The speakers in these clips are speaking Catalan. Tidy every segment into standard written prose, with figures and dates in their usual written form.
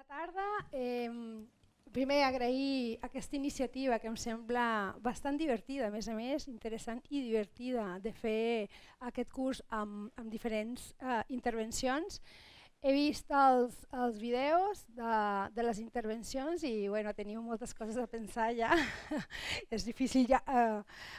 tarda. Primer, agrair aquesta iniciativa que em sembla bastant divertida, a més, interessant i divertida de fer aquest curs amb diferents intervencions. He vist els vídeos de les intervencions i bueno, teniu moltes coses a pensar ja, és difícil ja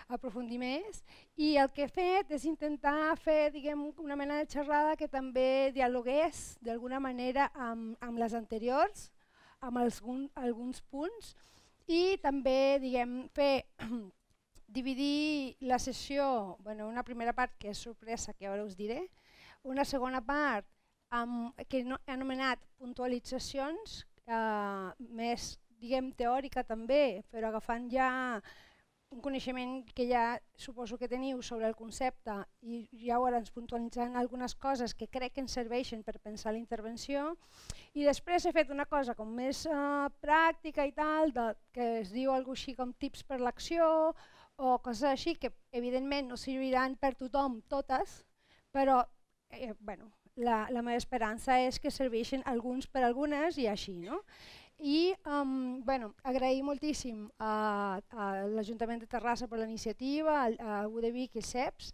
aprofundir més. I el que he fet és intentar fer una mena de xerrada que també dialogués d'alguna manera amb les anteriors, amb alguns punts, i també dividir la sessió, una primera part que és sorpresa, que ara us diré, una segona part que he anomenat puntualitzacions, més teòrica també, però agafant ja un coneixement que ja suposo que teniu sobre el concepte i llavors puntualitzant algunes coses que crec que ens serveixen per pensar la intervenció. I després he fet una cosa com més pràctica i tal, que es diu alguna cosa així com tips per l'acció o coses així que evidentment no serviran per tothom totes, però la meva esperança és que serveixin alguns per algunes i així. I agrair moltíssim a l'Ajuntament de Terrassa per la iniciativa, a UDEVIC i CEPS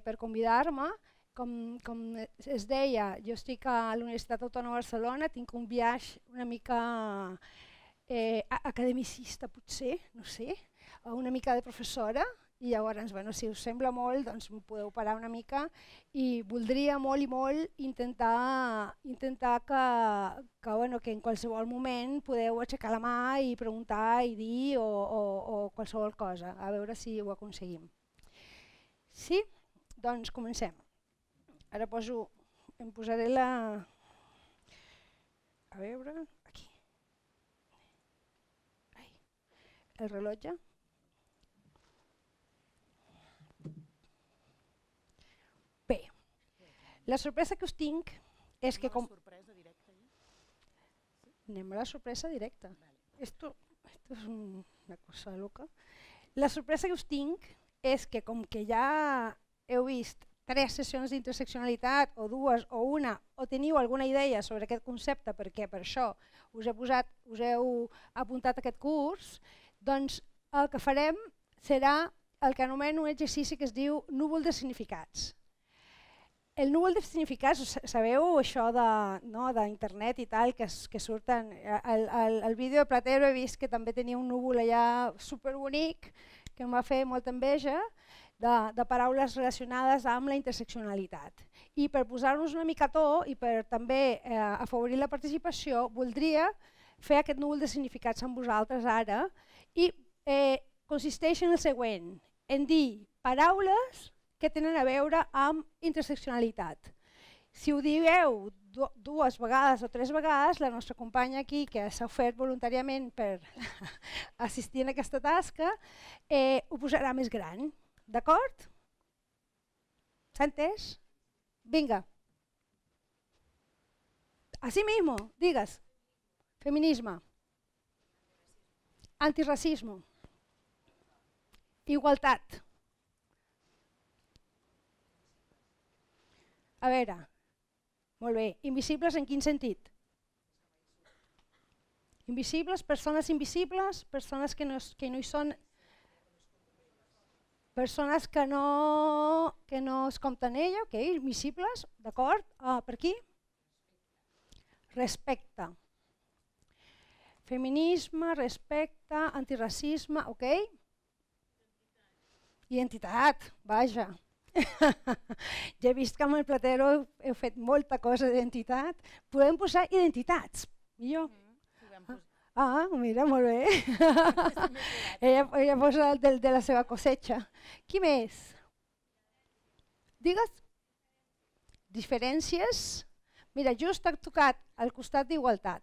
per convidar-me. Com es deia, jo estic a la Universitat Autònoma de Barcelona, tinc un viatge una mica academicista potser, no sé, una mica de professora, i llavors, si us sembla molt, doncs em podeu parar una mica i voldria molt i molt intentar que en qualsevol moment podeu aixecar la mà i preguntar i dir o qualsevol cosa, a veure si ho aconseguim. Sí? Doncs comencem. Ara em posaré la... A veure, aquí. El rellotge. Bé, la sorpresa que us tinc és que... Anem a la sorpresa directa. Esto es una cosa loca. La sorpresa que us tinc és que com que ja heu vist 3 sessions d'interseccionalitat, o 2 o una, o teniu alguna idea sobre aquest concepte, perquè per això us heu apuntat a aquest curs, doncs el que farem serà el que anomeno un exercici que es diu núvol de significats. El núvol de significats, sabeu això d'internet i tal, que surten... Al vídeo de Platero he vist que també tenia un núvol allà superbonic, que em va fer molta enveja, de paraules relacionades amb la interseccionalitat. I per posar-nos una mica a to i per també afavorir la participació, voldria fer aquest núvol de significats amb vosaltres ara i consisteix en el següent, en dir paraules que tenen a veure amb interseccionalitat. Si ho dieu 2 vegades o 3 vegades, la nostra companya aquí, que s'ha ofert voluntàriament per assistir a aquesta tasca, ho posarà més gran. D'acord? S'ha entès? Vinga. Así mismo, digues. Feminisme. Antirracisme. Igualtat. A veure, molt bé, invisibles en quin sentit? Invisibles, persones invisibles, persones que no hi són, persones que no es compten ella, ok, invisibles, d'acord, per aquí? Respecte. Feminisme, respecte, antirracisme, ok? Identitat, vaja. Ja he vist que amb el Platero heu fet molta cosa d'identitat. Podem posar identitats, millor. Mira, molt bé. Ella posa el de la seva cosecha. Qui més? Digues. Diferències. Mira, just ha tocat al costat d'igualtat.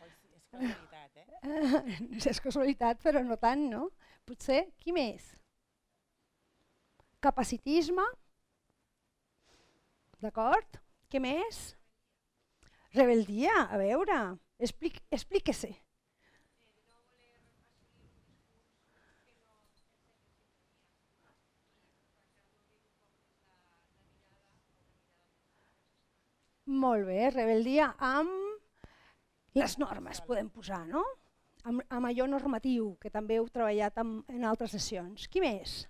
És casualitat, És casualitat, però no tant, no? Potser, qui més? Capacitisme, d'acord? Què més? Rebeldia, a veure, explique-se. Molt bé, rebeldia amb Les normes podem posar, no? Amb allò normatiu, que també heu treballat en altres sessions. Qui més?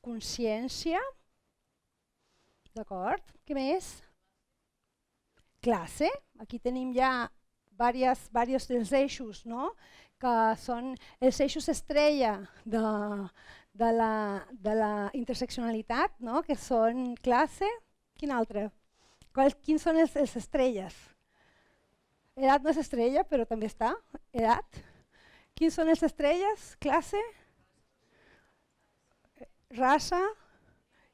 Consciència. D'acord. Què més? Classe. Aquí tenim ja diversos dels eixos, no? Que són els eixos estrella de la interseccionalitat, no? Que són classe. Quin altre? Quins són els estrelles? Edat no és estrella, però també està. Edat. Quins són els estrelles? Classe, raça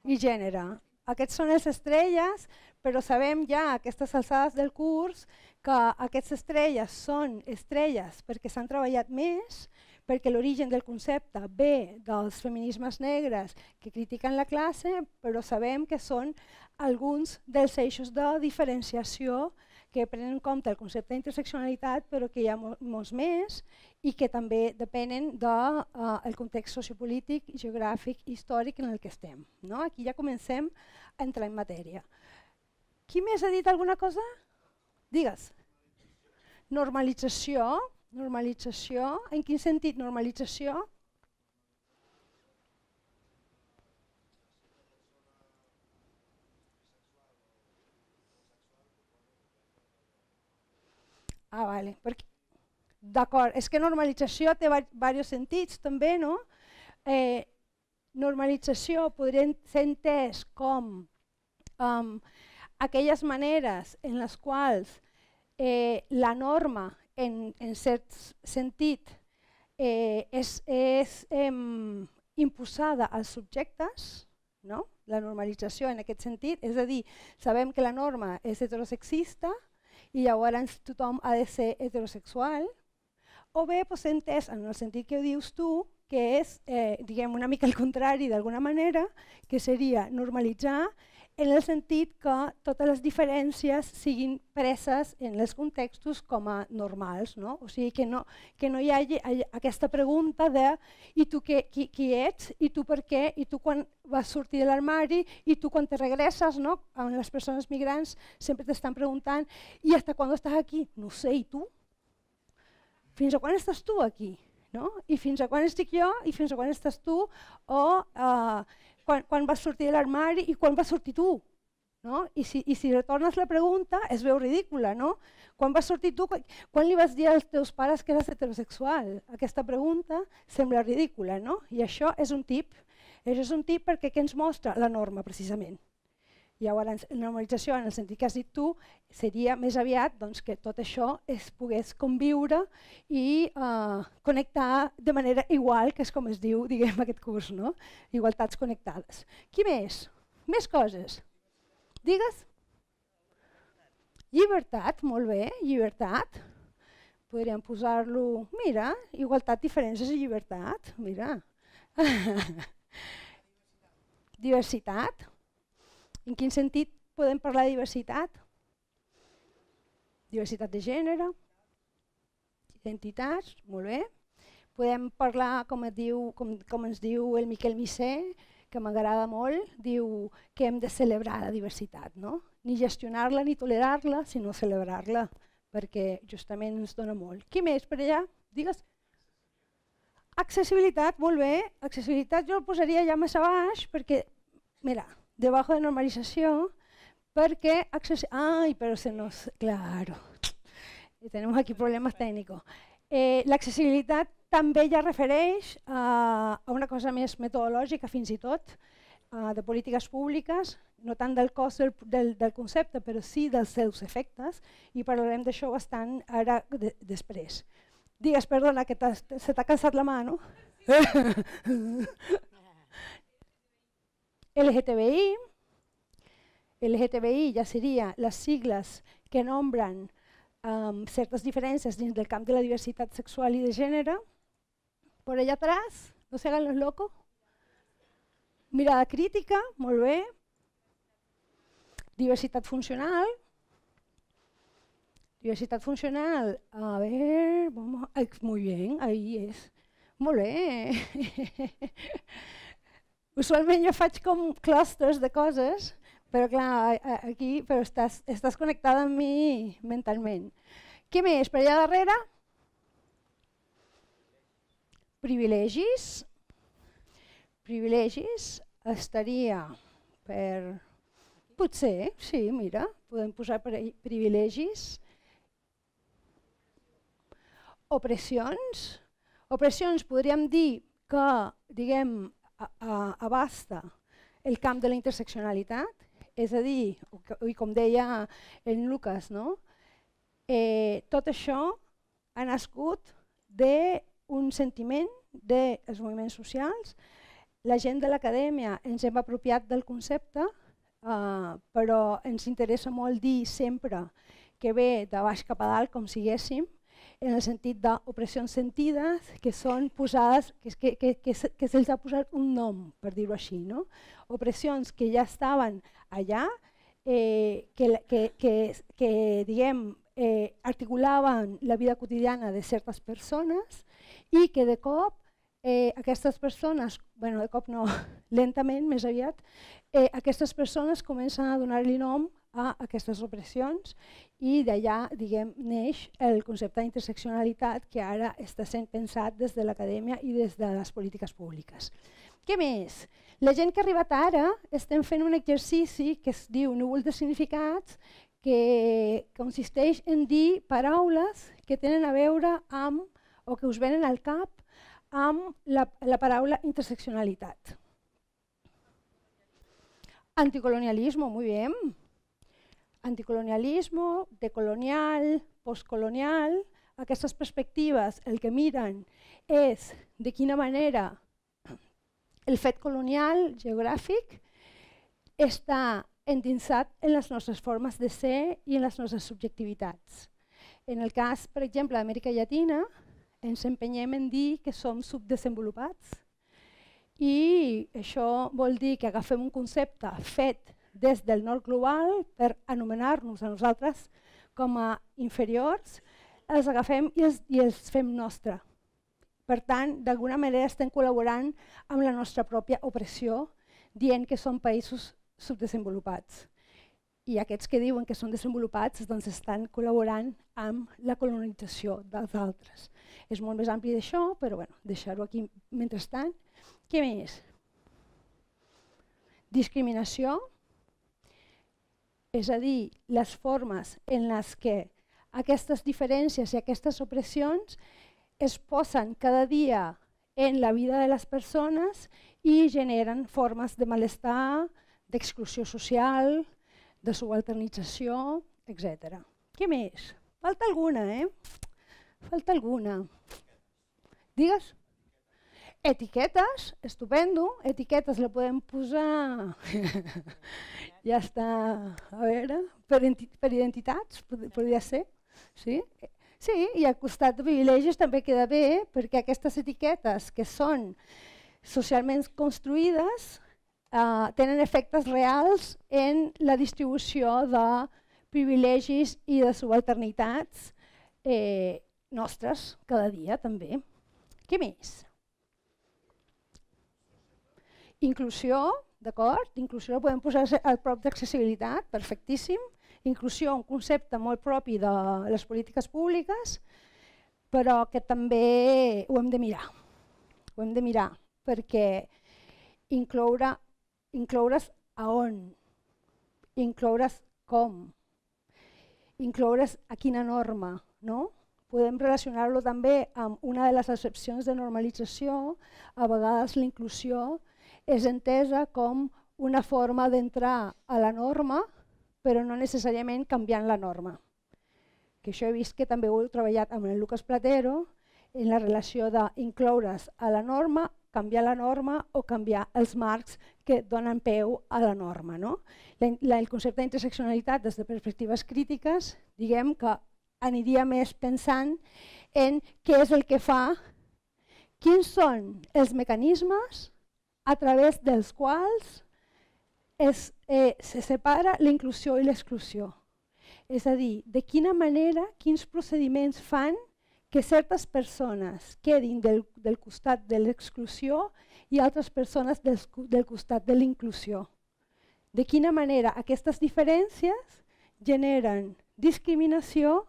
i gènere. Aquests són els estrelles, però sabem ja a aquestes alçades del curs que aquestes estrelles són estrelles perquè s'han treballat més, perquè l'origen del concepte ve dels feminismes negres que critiquen la classe, però sabem que són alguns dels eixos de diferenciació que prenen en compte el concepte d'interseccionalitat, però que hi ha molts més i que també depenen del context sociopolític, geogràfic i històric en el que estem. Aquí ja comencem a entrar en matèria. Qui més ha dit alguna cosa? Digues. Normalització. Normalització. En quin sentit normalització? Vale. D'acord, és que normalització té diversos sentits també, no? Normalització podria ser entès com aquelles maneres en les quals la norma, en cert sentit, és imposada als subjectes, no? La normalització en aquest sentit, és a dir, sabem que la norma és heterosexista i llavors tothom ha de ser heterosexual, o bé s'ha entès en el sentit que dius tu, que és una mica el contrari d'alguna manera, que seria normalitzar en el sentit que totes les diferències siguin preses en els contextos com a normals. O sigui, que no hi hagi aquesta pregunta de i tu qui ets, i tu per què, i tu quan vas sortir de l'armari, i tu quan te regresses. Amb les persones migrants sempre t'estan preguntant i hasta quan estàs aquí? No sé, i tu? Fins a quan estàs tu aquí? I fins a quan estic jo, i fins a quan estàs tu, o quan vas sortir de l'armari i quan vas sortir tu. I si retornes la pregunta es veu ridícula. Quan vas sortir tu, quan li vas dir als teus pares que eres heterosexual? Aquesta pregunta sembla ridícula, i això és un tip. Això és un tip perquè què ens mostra la norma, precisament. Llavors, la normalització, en el sentit que has dit tu, seria més aviat que tot això es pogués conviure i connectar de manera igual, que és com es diu aquest curs, igualtats connectades. Qui més? Més coses. Digues. Llibertat, molt bé, llibertat. Podríem posar-lo, mira, igualtat, diferències i llibertat, mira. Diversitat. En quin sentit podem parlar de diversitat? Diversitat de gènere, identitats, molt bé. Podem parlar, com ens diu el Miquel Missé, que m'agrada molt, diu que hem de celebrar la diversitat, ni gestionar-la ni tolerar-la, sinó celebrar-la, perquè justament ens dona molt. Qui més per allà? Digues. Accessibilitat, molt bé. Accessibilitat jo el posaria ja massa baix, perquè, mira, debajo de normalización, porque ay, pero se nos, claro, tenemos aquí problemas técnicos. L'accessibilitat també ja refereix a una cosa més metodològica, fins i tot, de polítiques públiques, no tant del cost del concepte, però sí dels seus efectes, i parlarem d'això bastant ara després. Digues, perdona, que se t'ha cansat la mà, no? LGTBI ja seria les sigles que nombren certes diferències dins del camp de la diversitat sexual i de gènere. Por allà atrás, no se hagan los locos. Mirada crítica, molt bé. Diversitat funcional. Diversidad funcional, a ver, vamos, muy bien, ahí es. Molt bé. Usualment jo faig com clusters de coses, però clar, aquí estàs connectada amb mi mentalment. Què més? Per allà darrere? Privilegis. Privilegis estaria per... Potser, sí, mira, podem posar privilegis. Opressions. Opressions podríem dir que, diguem, abasta el camp de la interseccionalitat, és a dir, com deia en Lucas, no? Tot això ha nascut d'un sentiment dels moviments socials. La gent de l'acadèmia ens hem apropiat del concepte, però ens interessa molt dir sempre que ve de baix cap a dalt, com siguéssim, en el sentit d'opressions sentides que són posades, que se'ls ha posat un nom, per dir-ho així, no? Opressions que ja estaven allà, que diguem, articulaven la vida quotidiana de certes persones i que de cop aquestes persones, bueno, de cop no, lentament, més aviat, aquestes persones comencen a donar-li nom a aquestes opressions i d'allà, diguem, neix el concepte d'interseccionalitat que ara està sent pensat des de l'acadèmia i des de les polítiques públiques. Què més? La gent que ha arribat ara estem fent un exercici que es diu núvol de significats, que consisteix en dir paraules que tenen a veure amb, o que us venen al cap, amb la paraula interseccionalitat. Anticolonialismo, muy bien. Anticolonialismo, decolonial, postcolonial, aquestes perspectives el que miren és de quina manera el fet colonial geogràfic està endinsat en les nostres formes de ser i en les nostres subjectivitats. En el cas, per exemple, d'Amèrica Llatina, ens empenyem en dir que som subdesenvolupats i això vol dir que agafem un concepte fet des del nord global per anomenar-nos a nosaltres com a inferiors, els agafem i els fem nostre. Per tant, d'alguna manera estem col·laborant amb la nostra pròpia opressió, dient que som països subdesenvolupats. I aquests que diuen que són desenvolupats doncs estan col·laborant amb la colonització dels altres. És molt més ampli d'això, però bueno, deixar-ho aquí mentrestant. Què més? Discriminació, és a dir, les formes en les que aquestes diferències i aquestes opressions es posen cada dia en la vida de les persones i generen formes de malestar, d'exclusió social, de subalternització, etc. Què més? Falta alguna, Falta alguna. Digues? Etiquetes, estupendo. Etiquetes la podem posar... Ja està, a veure, per identitats, podria ser. Sí, i al costat de privilegis també queda bé, perquè aquestes etiquetes que són socialment construïdes tenen efectes reals en la distribució de privilegis i de subalternitats nostres cada dia també. Què més? Inclusió, d'acord? Inclusió la podem posar al prop d'accessibilitat, perfectíssim. Inclusió, un concepte molt propi de les polítiques públiques, però que també ho hem de mirar. Ho hem de mirar, perquè incloure's a on, incloure's com, incloure's a quina norma, no? Podem relacionar-lo també amb una de les accepcions de normalització. A vegades la inclusió és entesa com una forma d'entrar a la norma, però no necessàriament canviant la norma. Que això he vist que també ho heu treballat amb el Lucas Platero, en la relació d'incloure's a la norma, canviar la norma o canviar els marcs que donen peu a la norma. El concepte d'interseccionalitat des de perspectives crítiques, diguem que aniria més pensant en què és el que fa, quins són els mecanismes a través dels quals se separa la inclusió i l'exclusió. És a dir, de quina manera, quins procediments fan que certes persones quedin del costat de l'exclusió i altres persones del costat de la inclusió. de quina manera aquestes diferències generen discriminació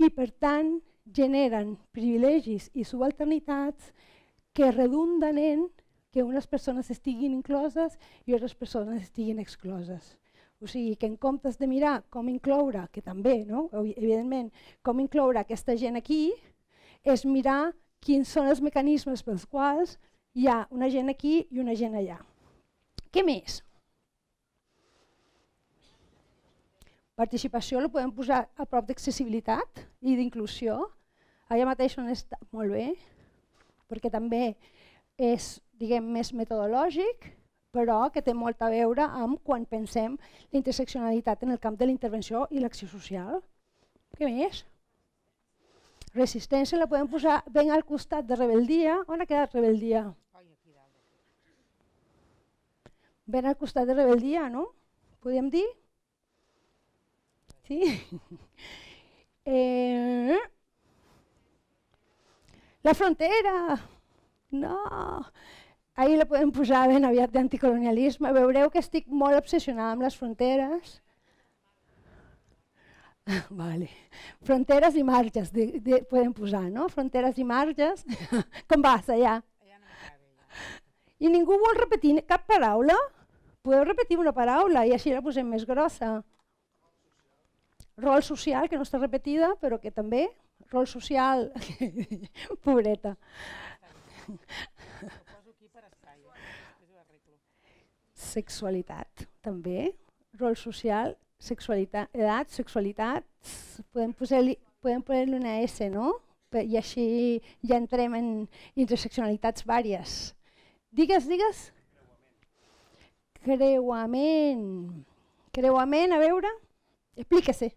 i, per tant, generen privilegis i subalternitats que redunden en que unes persones estiguin incloses i altres persones estiguin excloses. O sigui, que en comptes de mirar com incloure, que també, no? Evidentment, com incloure aquesta gent aquí, és mirar quins són els mecanismes pels quals hi ha una gent aquí i una gent allà. Què més? Participació la podem posar a prop d'accessibilitat i d'inclusió. Allà mateix on està molt bé, perquè també és, diguem, més metodològic, però que té molt a veure amb quan pensem la interseccionalitat en el camp de la intervenció i l'acció social. Què més? Resistència la podem posar ben al costat de rebeldia. On ha quedat rebeldia? Ben al costat de rebeldia, no? Podríem dir? Sí? La frontera! No! Ahir la podem posar ben aviat d'anticolonialisme. Veureu que estic molt obsessionada amb les fronteres. Vale. Fronteres i marges podem posar, no? Fronteres i marges. Com vas allà? I ningú vol repetir cap paraula? Podeu repetir una paraula i així la posem més grossa. Rol social, que no està repetida, però que també. Rol social. Pobreta. Sexualitat, també. Rol social, sexualitat, edat, sexualitat. Podem posar-li una S, no? I així ja entrem en interseccionalitats vàries. Digues, digues. Creuament. Creuament, a veure. Explica-se.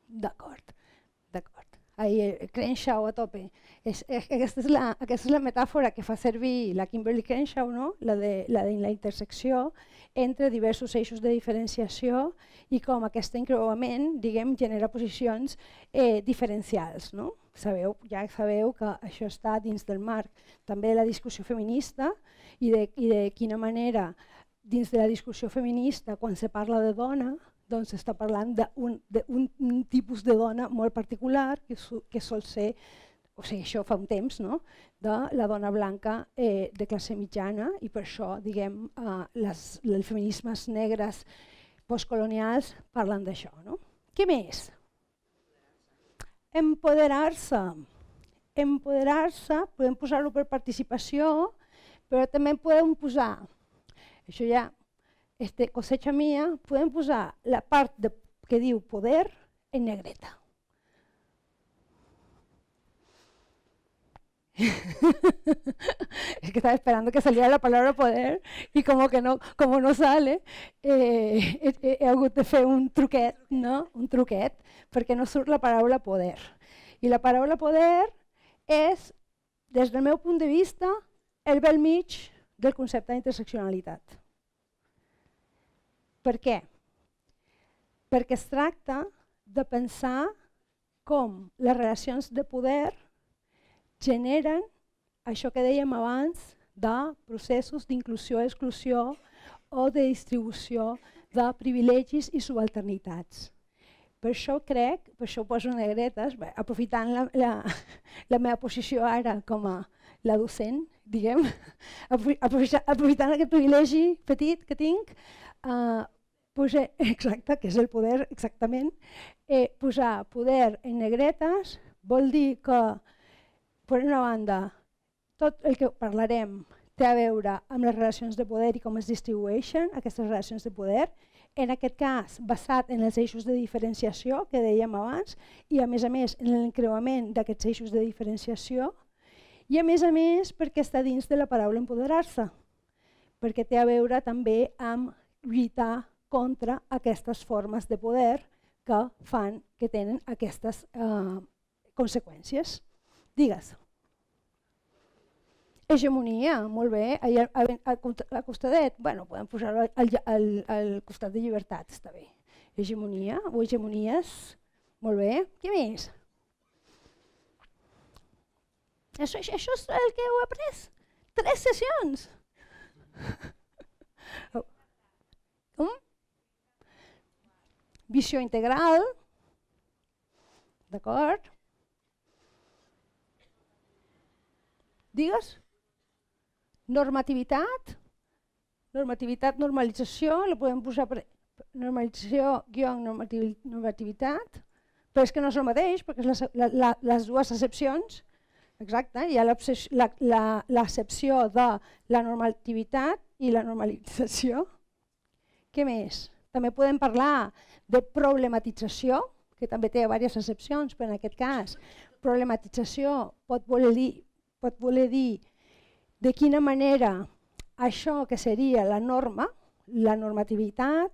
D'acord, d'acord. Crenshaw a tope. Aquesta és la metàfora que fa servir la Kimberly Crenshaw, no? La de la intersecció entre diversos eixos de diferenciació i com aquest encreuament, diguem, genera posicions diferencials, no? Ja sabeu que això està dins del marc també de la discussió feminista i de quina manera dins de la discussió feminista, quan se parla de dona, doncs s'està parlant d'un tipus de dona molt particular que sol ser, o sigui, això fa un temps, no? De la dona blanca de classe mitjana i per això, diguem, els feminismes negres postcolonials parlen d'això, no? Què més? Empoderar-se. Empoderar-se, podem posar-ho per participació, però també podem posar, això ja cosecha mía, podem posar la part que diu poder en negreta. Es que estaba esperando que saliera la palabra poder y como no sale, he hagut de fer un truquet, no? Un truquet, perquè no surt la paraula poder. I la paraula poder és, des del meu punt de vista, el bell mig del concepte d'interseccionalitat. Per què? Perquè es tracta de pensar com les relacions de poder generen això que dèiem abans de processos d'inclusió, exclusió o de distribució de privilegis i subalternitats. Per això crec, per això ho poso negretes, aprofitant la meva posició ara com a la docent, diguem, aprofitant aquest privilegi petit que tinc, exacte, que és el poder, exactament, posar poder en negretes vol dir que, per una banda, tot el que parlarem té a veure amb les relacions de poder i com es distribueixen aquestes relacions de poder, en aquest cas basat en els eixos de diferenciació que dèiem abans i a més en l'encreuament d'aquests eixos de diferenciació i a més perquè està dins de la paraula empoderar-se, perquè té a veure també amb lluitar contra aquestes formes de poder que fan que tenen aquestes conseqüències. Digues. Hegemonia, molt bé. Al costadet, bueno, podem posar-ho al costat de llibertat, està bé. Hegemonia o hegemonies, molt bé. Què més? Això és el que heu après? 3 sessions! Com? Visió integral, d'acord? Digues? Normativitat, normalització, la podem posar per normalització guió normativitat, però és que no és el mateix, perquè és les dues accepcions. Exacte, hi ha l'accepció de la normativitat i la normalització. Què més? També podem parlar de problematització, que també té diverses accepcions, però en aquest cas problematització pot voler dir de quina manera això que seria la norma, la normativitat,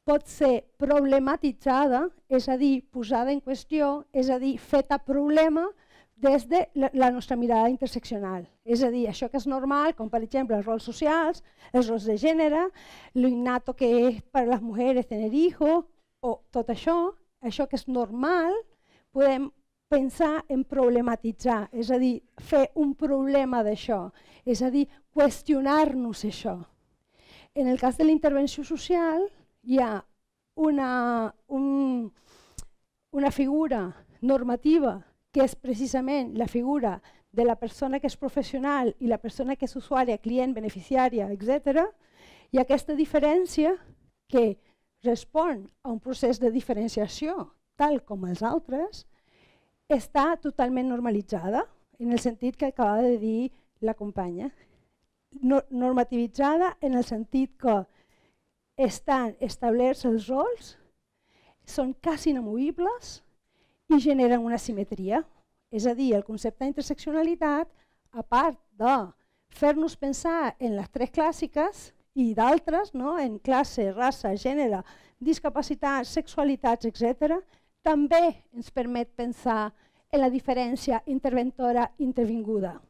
pot ser problematitzada, és a dir, posada en qüestió, és a dir, feta problema des de la nostra mirada interseccional. És a dir, això que és normal, com per exemple els rols socials, els rols de gènere, lo innato que és per a les mujeres tener hijos, o tot això que és normal, podem pensar en problematitzar, és a dir, fer un problema d'això, és a dir, qüestionar-nos això. En el cas de la intervenció social, hi ha una figura normativa que és precisament la figura de la persona que és professional i la persona que és usuària, client, beneficiària, etc. I aquesta diferència que respon a un procés de diferenciació, tal com els altres, està totalment normalitzada, en el sentit que acaba de dir la companya. Normativitzada en el sentit que estan establerts els rols, són quasi inamovibles i generen una simetria. És a dir, el concepte d'interseccionalitat, a part de fer-nos pensar en les 3 clàssiques i d'altres, en classe, raça, gènere, discapacitats, sexualitats, etc., també ens permet pensar en la diferència interventora-intervinguda.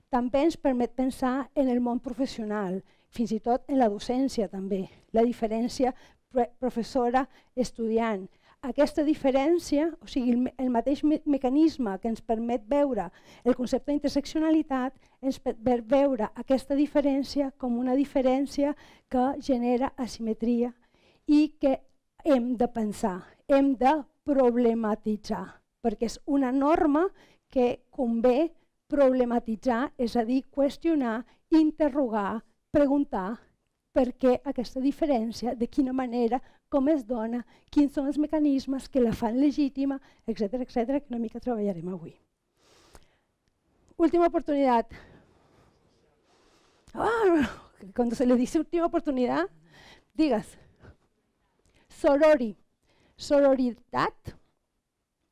També ens permet pensar en el món professional, fins i tot en la docència també, la diferència professora-estudiant. Aquesta diferència, o sigui, el mateix mecanisme que ens permet veure el concepte d'interseccionalitat, ens permet veure aquesta diferència com una diferència que genera asimetria i que hem de pensar, hem de problematitzar, perquè és una norma que convé problematitzar, és a dir, qüestionar, interrogar, preguntar per què aquesta diferència, de quina manera, com es dona, quins són els mecanismes que la fan legítima, etc., que una mica treballarem avui. Última oportunitat. Cuando se le dice última oportunidad, digas. Sororidad.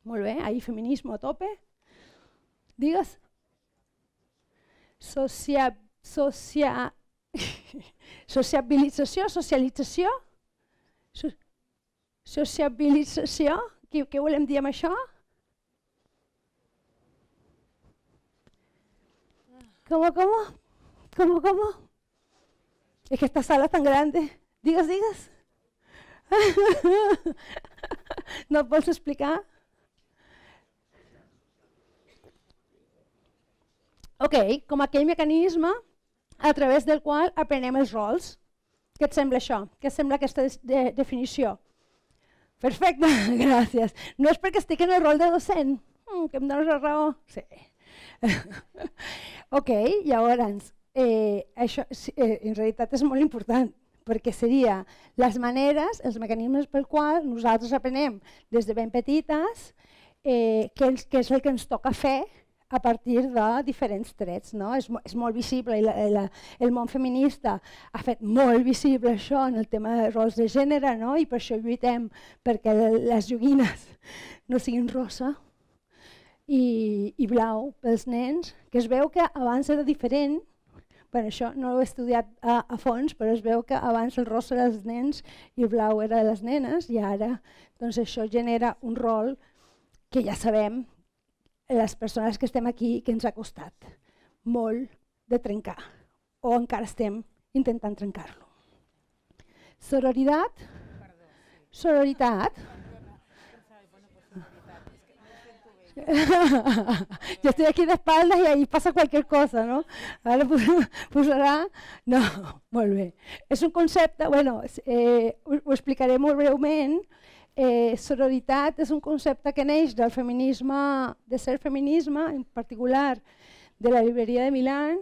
Molt bé, ahí feminismo a tope. Digues. Sociabilització, socialització. Sociabilització, què volem dir amb això? ¿Cómo? Es que esta sala es tan grande. Digas. No et vols explicar? Ok, com aquell mecanisme a través del qual aprenem els rols. Què et sembla això? Què et sembla aquesta definició? Perfecte, gràcies. No és perquè estic en el rol de docent, que em dones la raó. Sí. Ok, llavors, això en realitat és molt important, perquè seria les maneres, els mecanismes pel qual nosaltres aprenem des de ben petites què és el que ens toca fer a partir de diferents trets. És molt visible, el món feminista ha fet molt visible això en el tema de rols de gènere, i per això lluitem perquè les joguines no siguin rosa i blau pels nens, que es veu que abans era diferent. Això no ho he estudiat a fons, però es veu que abans el rosa era dels nens i el blau era de les nenes, i ara això genera un rol que ja sabem, les persones que estem aquí, que ens ha costat molt de trencar, o encara estem intentant trencar-lo. Sororitat. Yo estoy aquí de espaldas y ahí pasa cualquier cosa, no? Ara posarà... No, molt bé. És un concepte, bueno, ho explicaré molt breument. Sororitat és un concepte que neix del feminisme, de ser feminisme, en particular de la llibreria de Milán,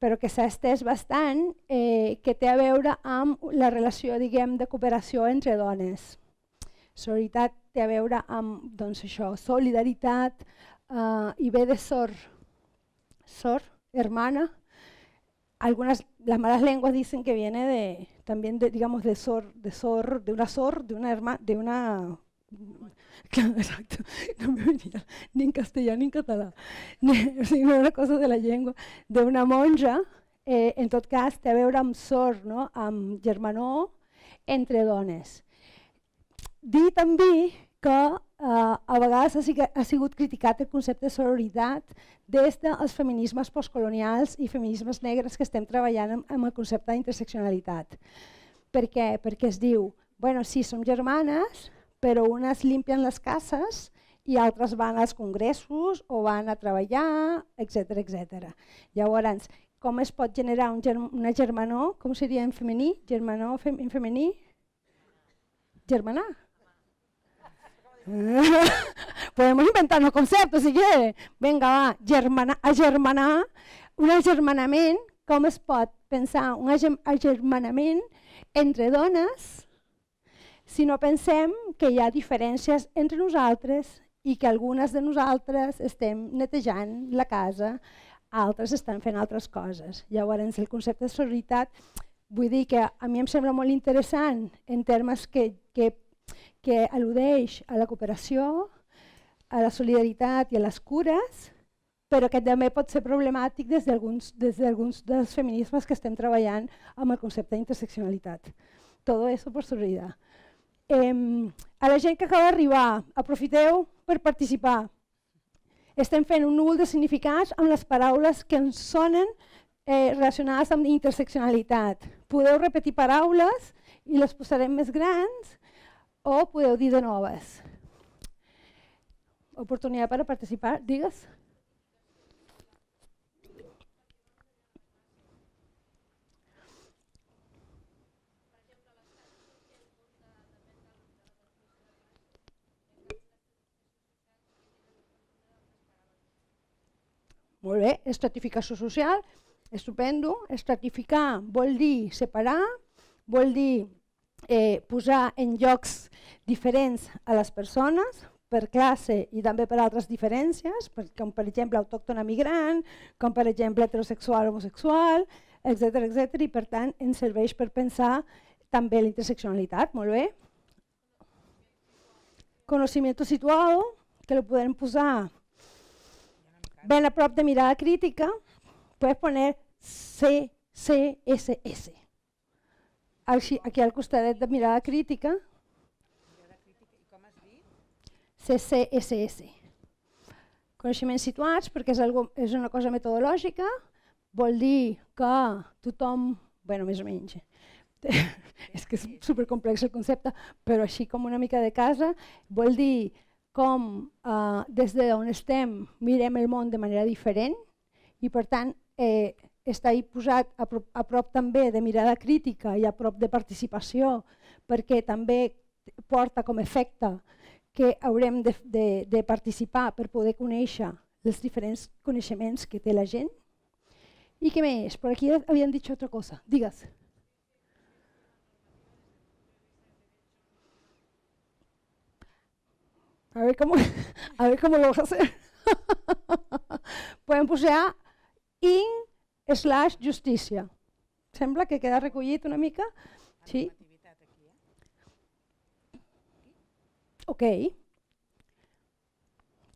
però que s'ha estès bastant, que té a veure amb la relació, diguem, de cooperació entre dones. Sororitat té a veure amb, doncs això, solidaritat i ve de sor, hermana. Algunas, las malas lenguas dicen que viene también digamos, de una hermana, de una... Exacto, no me venía ni en castellano ni en català, sinó una cosa de la llengua, d'una monja, en tot cas té a veure amb sor, no? Amb germanor entre dones. Dir també que a vegades ha sigut criticat el concepte de sororitat des dels feminismes postcolonials i feminismes negres que estem treballant amb el concepte d'interseccionalitat. Per què? Perquè es diu, bueno, sí, som germanes, però unes limpien les cases i altres van als congressos o van a treballar, etc. Llavors, com es pot generar una germanor? Com seria en femení? Germanor en femení? Germanar. Podemos inventarnos conceptos si quiere. Venga, va, agermanar, un agermanament, com es pot pensar un agermanament entre dones si no pensem que hi ha diferències entre nosaltres i que algunes de nosaltres estem netejant la casa, altres estan fent altres coses. Llavors, el concepte de sororitat, vull dir que a mi em sembla molt interessant en termes que al·ludeix a la cooperació, a la solidaritat i a les cures, però que també pot ser problemàtic des d'alguns dels feminismes que estem treballant amb el concepte d'interseccionalitat. Todo eso por sororidad. A la gent que acaba d'arribar, aprofiteu per participar. Estem fent un núvol de significats amb les paraules que ens sonen relacionades amb interseccionalitat. Podeu repetir paraules i les posarem més grans o podeu dir de noves. Oportunitat per participar, digues. Molt bé, estratificació social, estupendo. Estratificar vol dir separar, vol dir posar en llocs diferents a les persones, per classe i també per altres diferències, com per exemple autòctona migrant, com per exemple heterosexual o homosexual, etc. I per tant ens serveix per pensar també la interseccionalitat, molt bé. Conocimiento situado, que lo podem posar ben a prop de mirada crítica, puedes poner CCSS. Aquí al costadet de mirada crítica, CCSS. Coneixements situats, perquè és una cosa metodològica, vol dir que tothom, bueno, més o menys, és que és supercomplex el concepte, però així com una mica de casa, vol dir com des d'on estem mirem el món de manera diferent i per tant està posat a prop també de mirada crítica i a prop de participació perquè també porta com a efecte que haurem de participar per poder conèixer els diferents coneixements que té la gent. I què més? Per aquí havien dit altra cosa. Digues. A ver cómo lo vas a hacer. Podem posar in/justícia. Sembla que queda recollit una mica. Sí. Ok.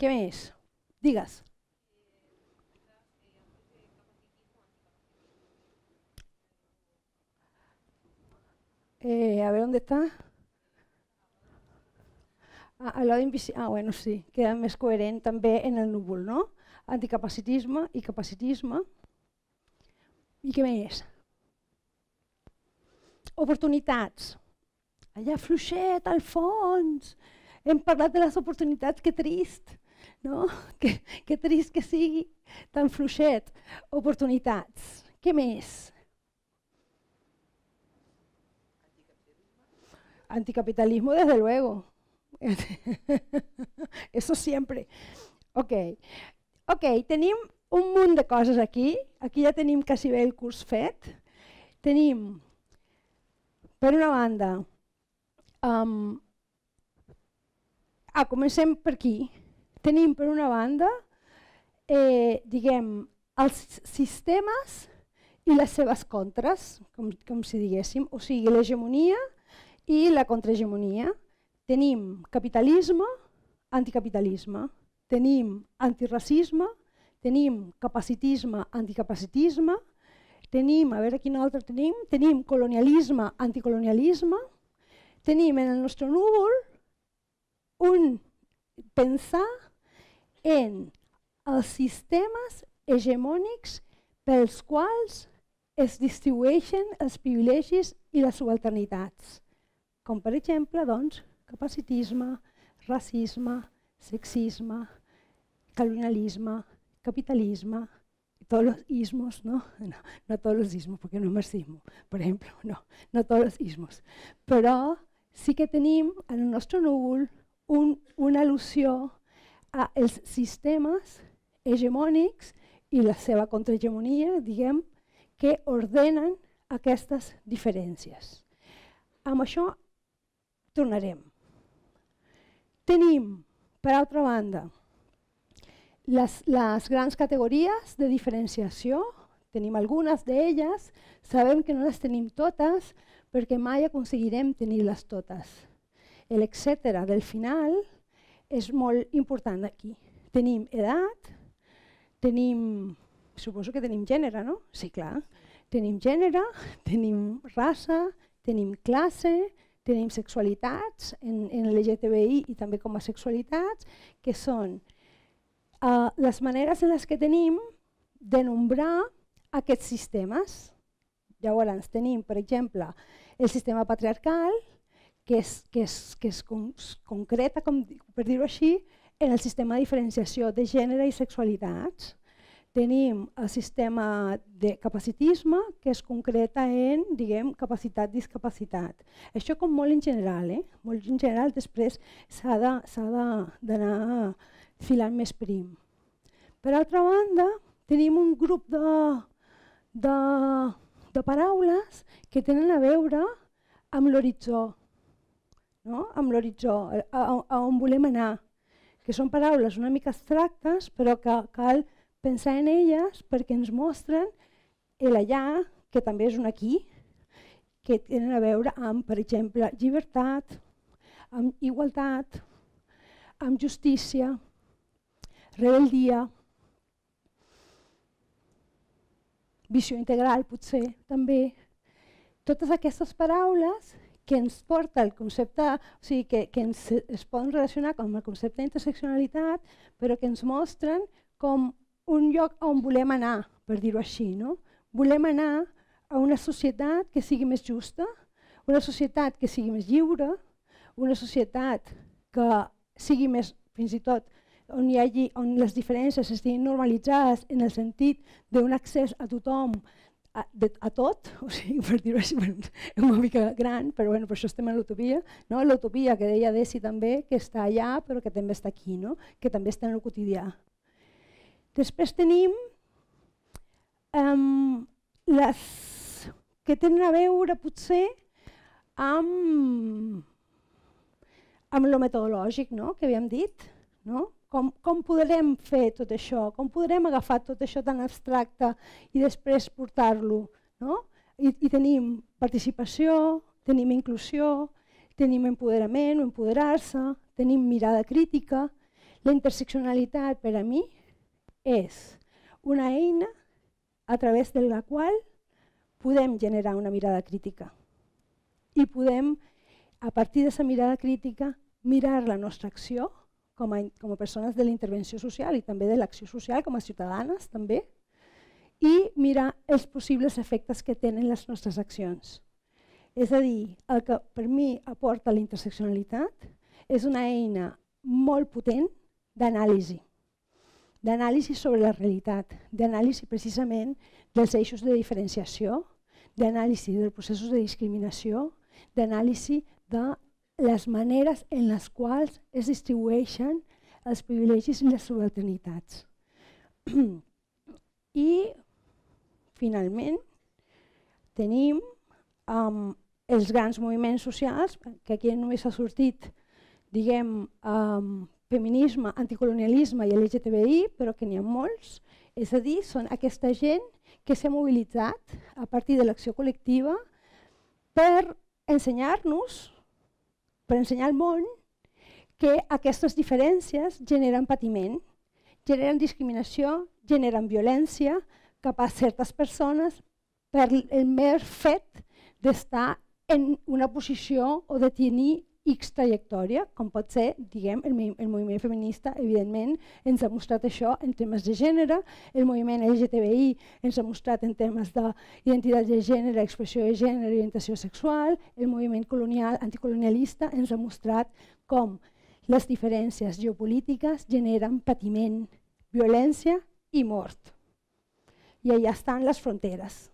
Què més? Digues. A ver dónde está. Al lado invisible. Bueno, sí, queda més coherent també en el núvol, no? Anticapacitisme i capacitisme. I què més? Oportunitats. Allà fluixet, al fons. Hem parlat de les oportunitats, que trist. no? Que trist que sigui tan fluixet. Oportunitats. Què més? Anticapitalismo, desde luego. Eso siempre. Ok, tenim un munt de coses aquí. Aquí ja tenim quasi bé el curs fet. Tenim, per una banda, comencem per aquí. Tenim, per una banda, diguem, els sistemes i les seves contres, com si diguéssim, o sigui, l'hegemonia i la contrahegemonia. Tenim capitalisme, anticapitalisme, tenim antiracisme, tenim capacitisme, anticapacitisme, tenim, a veure quin altre tenim, tenim colonialisme, anticolonialisme, tenim en el nostre núvol un pensar en els sistemes hegemònics pels quals es distribueixen els privilegis i les subalternitats, com per exemple, doncs, capacitisme, racisme, sexisme, colonialisme, capitalisme, todos los ismos, ¿no? No todos los ismos, porque no es marxismo, por ejemplo, no todos los ismos. Però sí que tenim en el nostre núvol una al·lusió als sistemes hegemònics i la seva contrahegemonia, diguem, que ordenen aquestes diferències. Amb això tornarem. Tenim, per altra banda, les grans categories de diferenciació, tenim algunes d'elles, sabem que no les tenim totes perquè mai aconseguirem tenir-les totes. L'etcètera del final és molt important aquí. Tenim edat, suposo que tenim gènere, no? Sí, clar. Tenim gènere, tenim raça, tenim classe, tenim sexualitats en LGTBI i també com a sexualitats, que són les maneres en les que tenim de nombrar aquests sistemes. Llavors tenim, per exemple, el sistema patriarcal, que es concreta, per dir-ho així, en el sistema de diferenciació de gènere i sexualitats. Tenim el sistema de capacitisme, que es concreta en, diguem, capacitat-discapacitat. Això com molt en general, molt en general, després s'ha d'anar filant més prim. Per altra banda, tenim un grup de paraules que tenen a veure amb l'horitzó, amb l'horitzó, a on volem anar, que són paraules una mica abstractes, però que cal pensar en elles perquè ens mostren l'allà, que també és un aquí, que tenen a veure amb, per exemple, llibertat, amb igualtat, amb justícia, rebeldia, visió integral potser també. Totes aquestes paraules que ens porta el concepte, o sigui, que es poden relacionar amb el concepte d'interseccionalitat, però que ens mostren com un lloc on volem anar, per dir-ho així. Volem anar a una societat que sigui més justa, una societat que sigui més lliure, una societat que sigui més, fins i tot, on les diferències estiguin normalitzades en el sentit d'un accés a tothom, a tot, o sigui, per dir-ho així, és una mica gran, però per això estem en l'utopia. L'utopia que deia Desi també, que està allà però que també està aquí, que també està en el quotidià. Després tenim les que tenen a veure potser amb el metodològic que havíem dit. Com podrem fer tot això? Com podrem agafar tot això tan abstracte i després portar-lo? I tenim participació, tenim inclusió, tenim empoderament o empoderar-se, tenim mirada crítica. La interseccionalitat per a mi és una eina a través de la qual podem generar una mirada crítica i podem, a partir d'aquesta mirada crítica, mirar la nostra acció com a persones de la intervenció social i també de l'acció social com a ciutadanes també, i mirar els possibles efectes que tenen les nostres accions. És a dir, el que per mi aporta la interseccionalitat és una eina molt potent d'anàlisi. d'anàlisi sobre la realitat, d'anàlisi precisament dels eixos de diferenciació, d'anàlisi dels processos de discriminació, d'anàlisi de les maneres en les quals es distribueixen els privilegis i les subalternitats. I, finalment, tenim els grans moviments socials, que aquí només ha sortit, diguem, feminisme, anticolonialisme i LGTBI, però que n'hi ha molts. És a dir, són aquesta gent que s'ha mobilitzat a partir de l'acció col·lectiva per ensenyar-nos, per ensenyar al món, que aquestes diferències generen patiment, generen discriminació, generen violència cap a certes persones per el mer fet d'estar en una posició o de tenir X trajectòria, com pot ser, diguem, el moviment feminista, evidentment, ens ha mostrat això en temes de gènere, el moviment LGTBI ens ha mostrat en temes d'identitat de gènere, expressió de gènere i orientació sexual, el moviment anticolonialista ens ha mostrat com les diferències geopolítiques generen patiment, violència i mort. I allà estan les fronteres.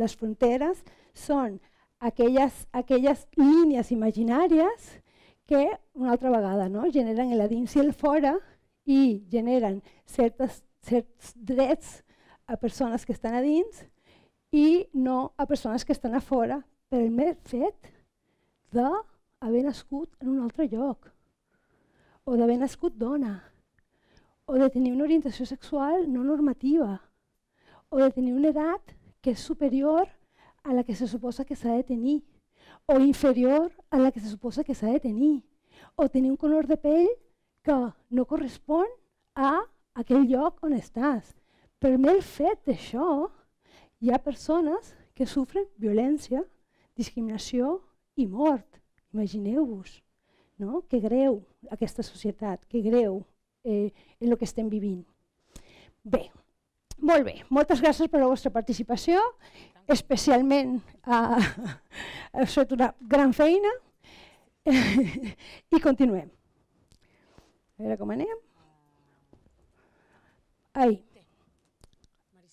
Les fronteres són aquelles línies imaginàries que, una altra vegada, generen el dins i el fora i generen certs drets a persones que estan a dins i no a persones que estan a fora per el mer fet d'haver nascut en un altre lloc, o d'haver nascut dona, o de tenir una orientació sexual no normativa, o de tenir una edat que és superior a la que se suposa que s'ha de tenir, o inferior a la que se suposa que s'ha de tenir, o tenir un color de pell que no correspon a aquell lloc on estàs. Per el fet d'això, hi ha persones que sofren violència, discriminació i mort. Imagineu-vos, que greu aquesta societat, que greu en el que estem vivint. Bé, molt bé, moltes gràcies per la vostra participació, especialment heu fet una gran feina i continuem. A veure com anem. Ahí.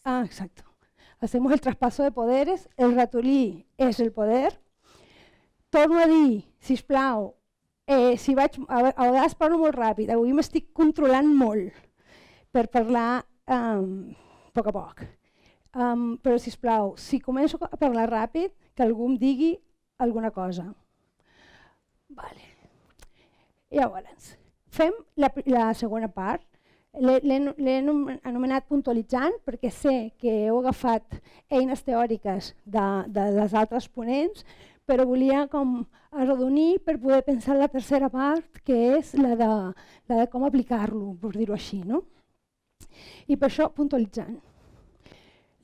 Exacto. Hacemos el traspaso de poderes, el ratolí és el poder. Torno a dir, sisplau, si vaig, a vegades parlo molt ràpid, avui m'estic controlant molt per parlar a poc. Però, sisplau, si començo a parlar ràpid, que algú em digui alguna cosa. Llavors, fem la segona part. L'he anomenat puntualitzant perquè sé que heu agafat eines teòriques de les altres ponents, però volia com arrodonir per poder pensar la tercera part, que és la de com aplicar-lo, per dir-ho així. I per això, puntualitzant.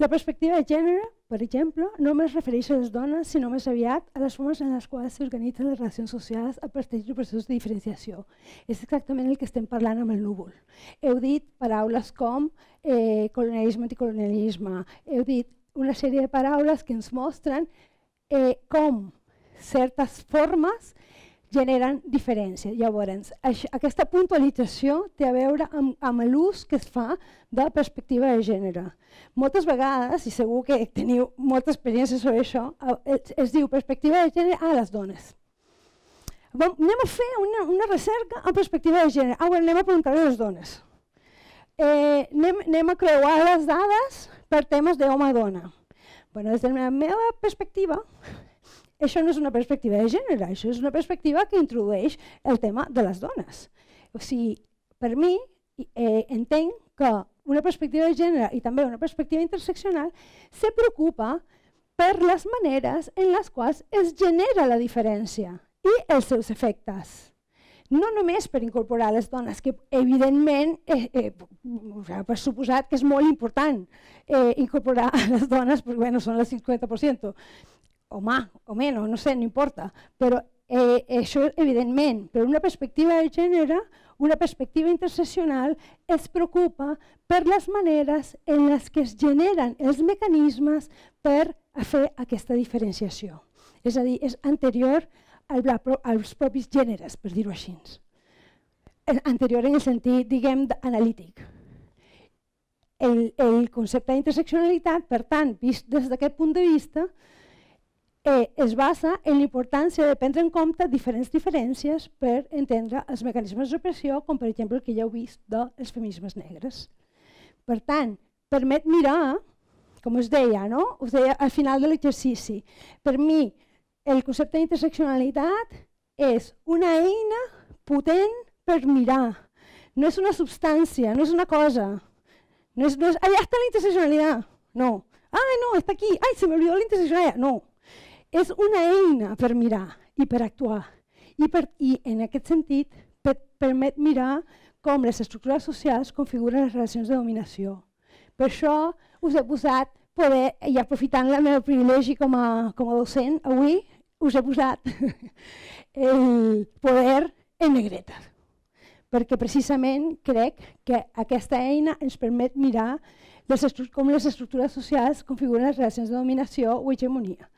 La perspectiva de gènere, per exemple, no només refereix a les dones, sinó més aviat a les formes en les quals s'organitzen les relacions socials a partir de processos de diferenciació. És exactament el que estem parlant amb el núvol. Heu dit paraules com colonialisme, anticolonialisme, heu dit una sèrie de paraules que ens mostren com certes formes generen diferències. Llavors, aquesta puntualització té a veure amb l'ús que es fa de la perspectiva de gènere. Moltes vegades, i segur que teniu molta experiència sobre això, es diu perspectiva de gènere a les dones. Anem a fer una recerca en perspectiva de gènere. Anem a preguntar a les dones. Anem a creuar les dades per temes d'home-dona. Des de la meva perspectiva, això no és una perspectiva de gènere, això és una perspectiva que introdueix el tema de les dones. O sigui, per mi, entenc que una perspectiva de gènere i també una perspectiva interseccional se preocupa per les maneres en les quals es genera la diferència i els seus efectes. No només per incorporar les dones, que evidentment, per suposat que és molt important incorporar les dones, perquè són el 50%, o menys, no sé, no importa, però això evidentment, però una perspectiva de gènere, una perspectiva interseccional es preocupa per les maneres en les que es generen els mecanismes per fer aquesta diferenciació. És a dir, és anterior als propis gèneres, per dir-ho així. Anterior en el sentit, diguem, analític. el concepte d'interseccionalitat, per tant, vist des d'aquest punt de vista, es basa en la importància de prendre en compte diferents diferències per entendre els mecanismes de repressió, com per exemple el que ja heu vist dels feminismes negres. Per tant, permet mirar, com us deia, no? Us deia al final de l'exercici, per mi el concepte d'interseccionalitat és una eina potent per mirar. No és una substància, no és una cosa. No és, allà està la interseccionalitat. No. Ai, no, està aquí. Ai, se m'oblidó la interseccionalitat. No. És una eina per mirar i per actuar. I en aquest sentit permet mirar com les estructures socials configuren les relacions de dominació. Per això us he posat poder, i aprofitant el meu privilegi com a docent, avui us he posat el poder en negreta. Perquè precisament crec que aquesta eina ens permet mirar com les estructures socials configuren les relacions de dominació o hegemonia.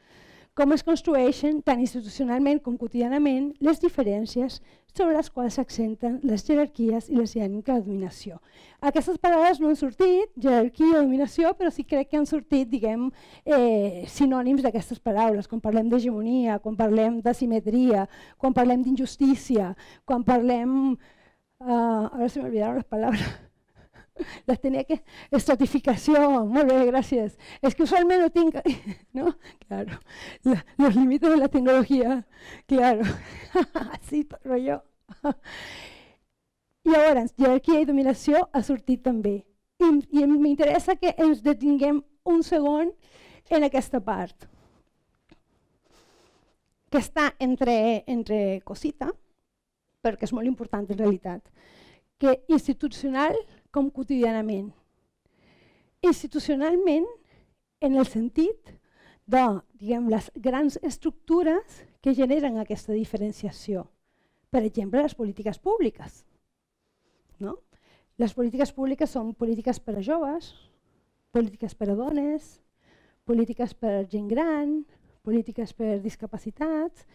Com es construeixen, tant institucionalment com quotidianament, les diferències sobre les quals s'accenten les jerarquies i les dinàmiques de dominació. Aquestes paraules no han sortit, jerarquia i dominació, però sí crec que han sortit, diguem, sinònims d'aquestes paraules, quan parlem d'hegemonia, quan parlem d'asimetria, quan parlem d'injustícia, quan parlem... Ara se m'olvidaron les paraules. Las tenía que... Estratificación, muy bien, gracias. Es que usualmente no tengo... ¿No? Claro. Los límites de la tecnología. Claro. Así rollo. I llavors, jerarquia i dominació ha sortit també. I m'interessa que ens detinguem un segon en aquesta part, que està entre cosita, perquè és molt important en realitat, que institucional com quotidianament. Institucionalment, en el sentit de, diguem, les grans estructures que generen aquesta diferenciació. Per exemple, les polítiques públiques. No? Les polítiques públiques són polítiques per a joves, polítiques per a dones, polítiques per a gent gran, polítiques per a discapacitats.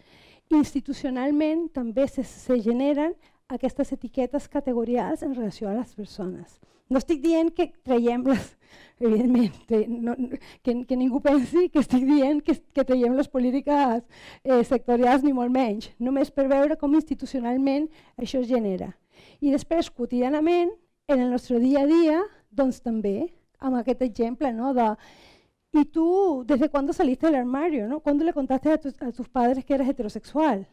Institucionalment també se generen aquestes etiquetes categorials en relació a les persones. No estic dient que traiem les... Evidentment, que ningú pensi que estic dient que traiem les polítiques sectorials ni molt menys, només per veure com institucionalment això es genera. I després, quotidianament, en el nostre dia a dia, doncs també, amb aquest exemple, ¿no? De ¿y tú desde cuándo saliste del armario? ¿No? ¿Cuándo le contaste a tus padres que eres heterosexual?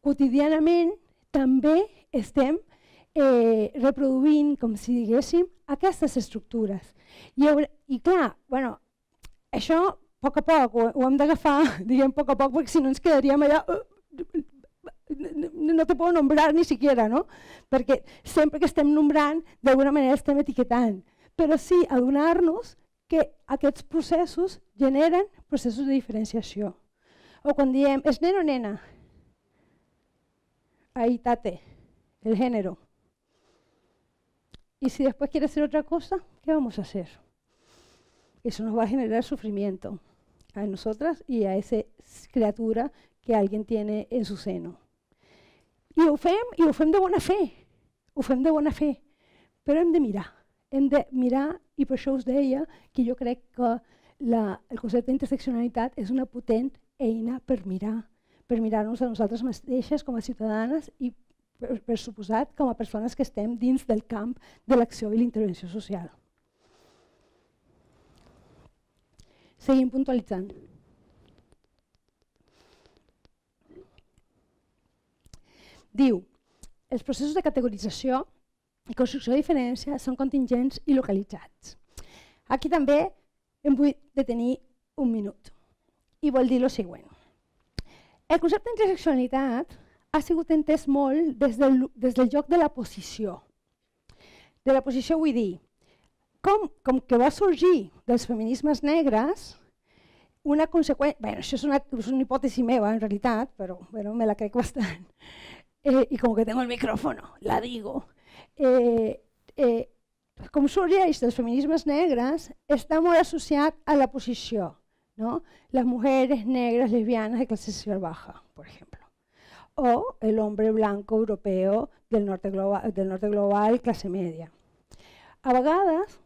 Quotidianament també estem reproduint, com si diguéssim, aquestes estructures. I clar, bueno, això a poc ho hem d'agafar, diguem a poc, perquè si no ens quedaríem allà... No te puedo nombrar ni siquiera, ¿no? Perquè sempre que estem nombrant, d'alguna manera estem etiquetant. Però sí adonar-nos que aquests processos generen processos de diferenciació. O quan diem, ¿es nena o nena? Ahí tate, el género. Y si después quiere hacer otra cosa, ¿qué vamos a hacer? Eso nos va a generar sufrimiento a nosotras y a esa criatura que alguien tiene en su seno. I ho fem de bona fe, però hem de mirar, i per això us deia que jo crec que el concepte d'interseccionalitat és una potent eina per mirar-nos a nosaltres mateixes com a ciutadanes i, per suposat, com a persones que estem dins del camp de l'acció i l'intervenció social. Seguim puntualitzant. Diu, els processos de categorització i construcció de diferència són contingents i localitzats. Aquí també em vull detenir un minut i vol dir el següent. El concepte d'interseccionalitat ha sigut entès molt des del joc de la posició. De la posició vull dir, com que va sorgir dels feminismes negres, una conseqüència... Bé, això és una hipòtesi meva, en realitat, però me la crec bastant. Y como que tengo el micrófono, la digo. Com sorgeix dels feminismes negres, està molt associat a la posició, ¿no? Las mujeres negras lesbianas de clase social baja, por ejemplo. O el hombre blanco europeo del norte global, clase media. A vegades,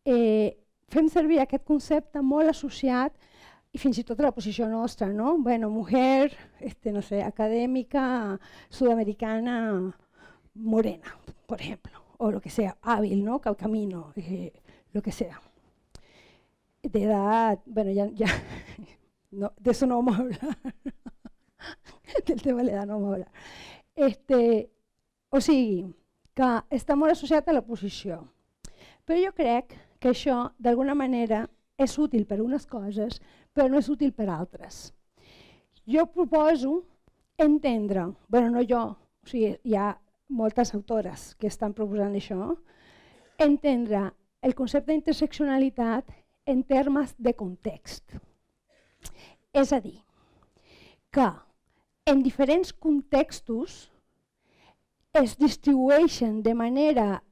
fem servir aquest concepte molt associat i fins i tot a la posició nostra, ¿no? Bueno, mujer, no sé, académica, sudamericana, morena, por ejemplo, o lo que sea, hábil, ¿no? Camino, lo que sea. De edad, bueno, ya no, de eso no vamos a hablar. Del tema de l'edat no vamos a hablar. O sigui, que està molt associat a la posició. Però jo crec que això, d'alguna manera, és útil per a unes coses, però no és útil per a altres. Jo proposo entendre, bueno, no jo, o sigui, hi ha moltes autores que estan proposant això, entendre el concepte d'interseccionalitat en termes de context. És a dir, que en diferents contextos es distribueixen de manera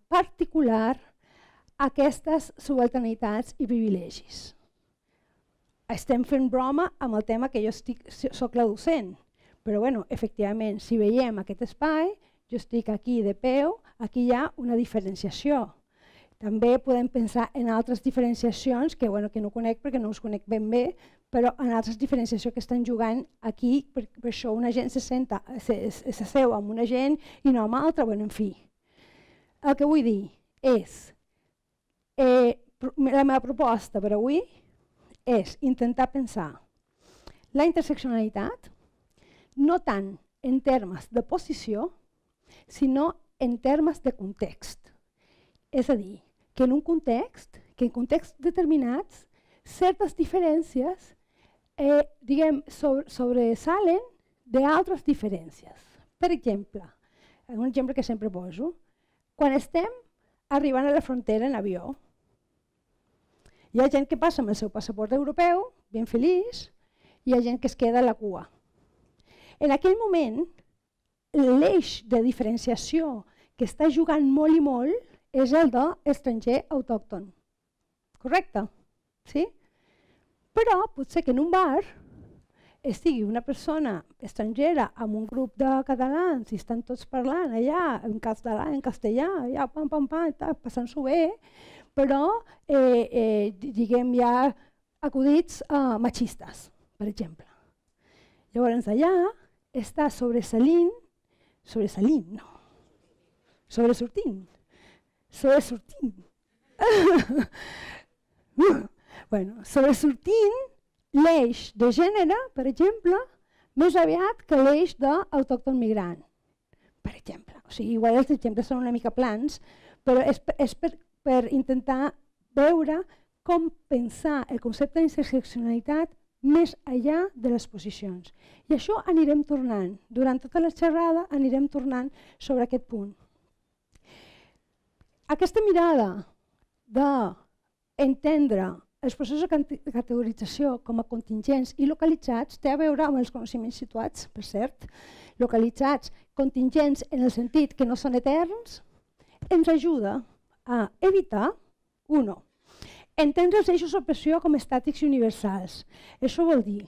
particular aquestes subalternitats i privilegis. Estem fent broma amb el tema que jo soc la docent, però bueno, efectivament, si veiem aquest espai, jo estic aquí de peu, aquí hi ha una diferenciació. També podem pensar en altres diferenciacions que no conec perquè no us conec ben bé, però en altres diferenciacions que estan jugant aquí, per això una gent s'asseu amb una gent i no amb altra, en fi. El que vull dir és, la meva proposta per avui és intentar pensar la interseccionalitat no tant en termes de posició, sinó en termes de context. És a dir, que en un context, que en contexts determinats, certes diferències sobresalen d'altres diferències. Per exemple, un exemple que sempre poso, quan estem arribant a la frontera en avió, hi ha gent que passa amb el seu passaport europeu, ben feliç, i hi ha gent que es queda a la cua. En aquell moment, l'eix de diferenciació que està jugant molt i molt és el d'estranger autòcton. Correcte? Sí? Però potser que en un bar estigui una persona estrangera amb un grup de catalans i estan tots parlant allà en català, en castellà, allà pam, pam, pam, passant-s'ho bé, però diguem ja acudits machistes, per exemple. Llavors allà està sobresortint, l'eix de gènere, per exemple, més aviat que l'eix d'autòcton migrant, per exemple. O sigui, igual els exemples són una mica plans, però és per intentar veure com pensar el concepte d'interseccionalitat més enllà de les posicions. I això anirem tornant. Durant tota la xerrada anirem tornant sobre aquest punt. Aquesta mirada d'entendre els processos de categorització com a contingents i localitzats té a veure amb els coneixements situats, per cert, localitzats, contingents en el sentit que no són eterns, ens ajuda a evitar, entendre els eixos d'opressió com estàtics i universals. Això vol dir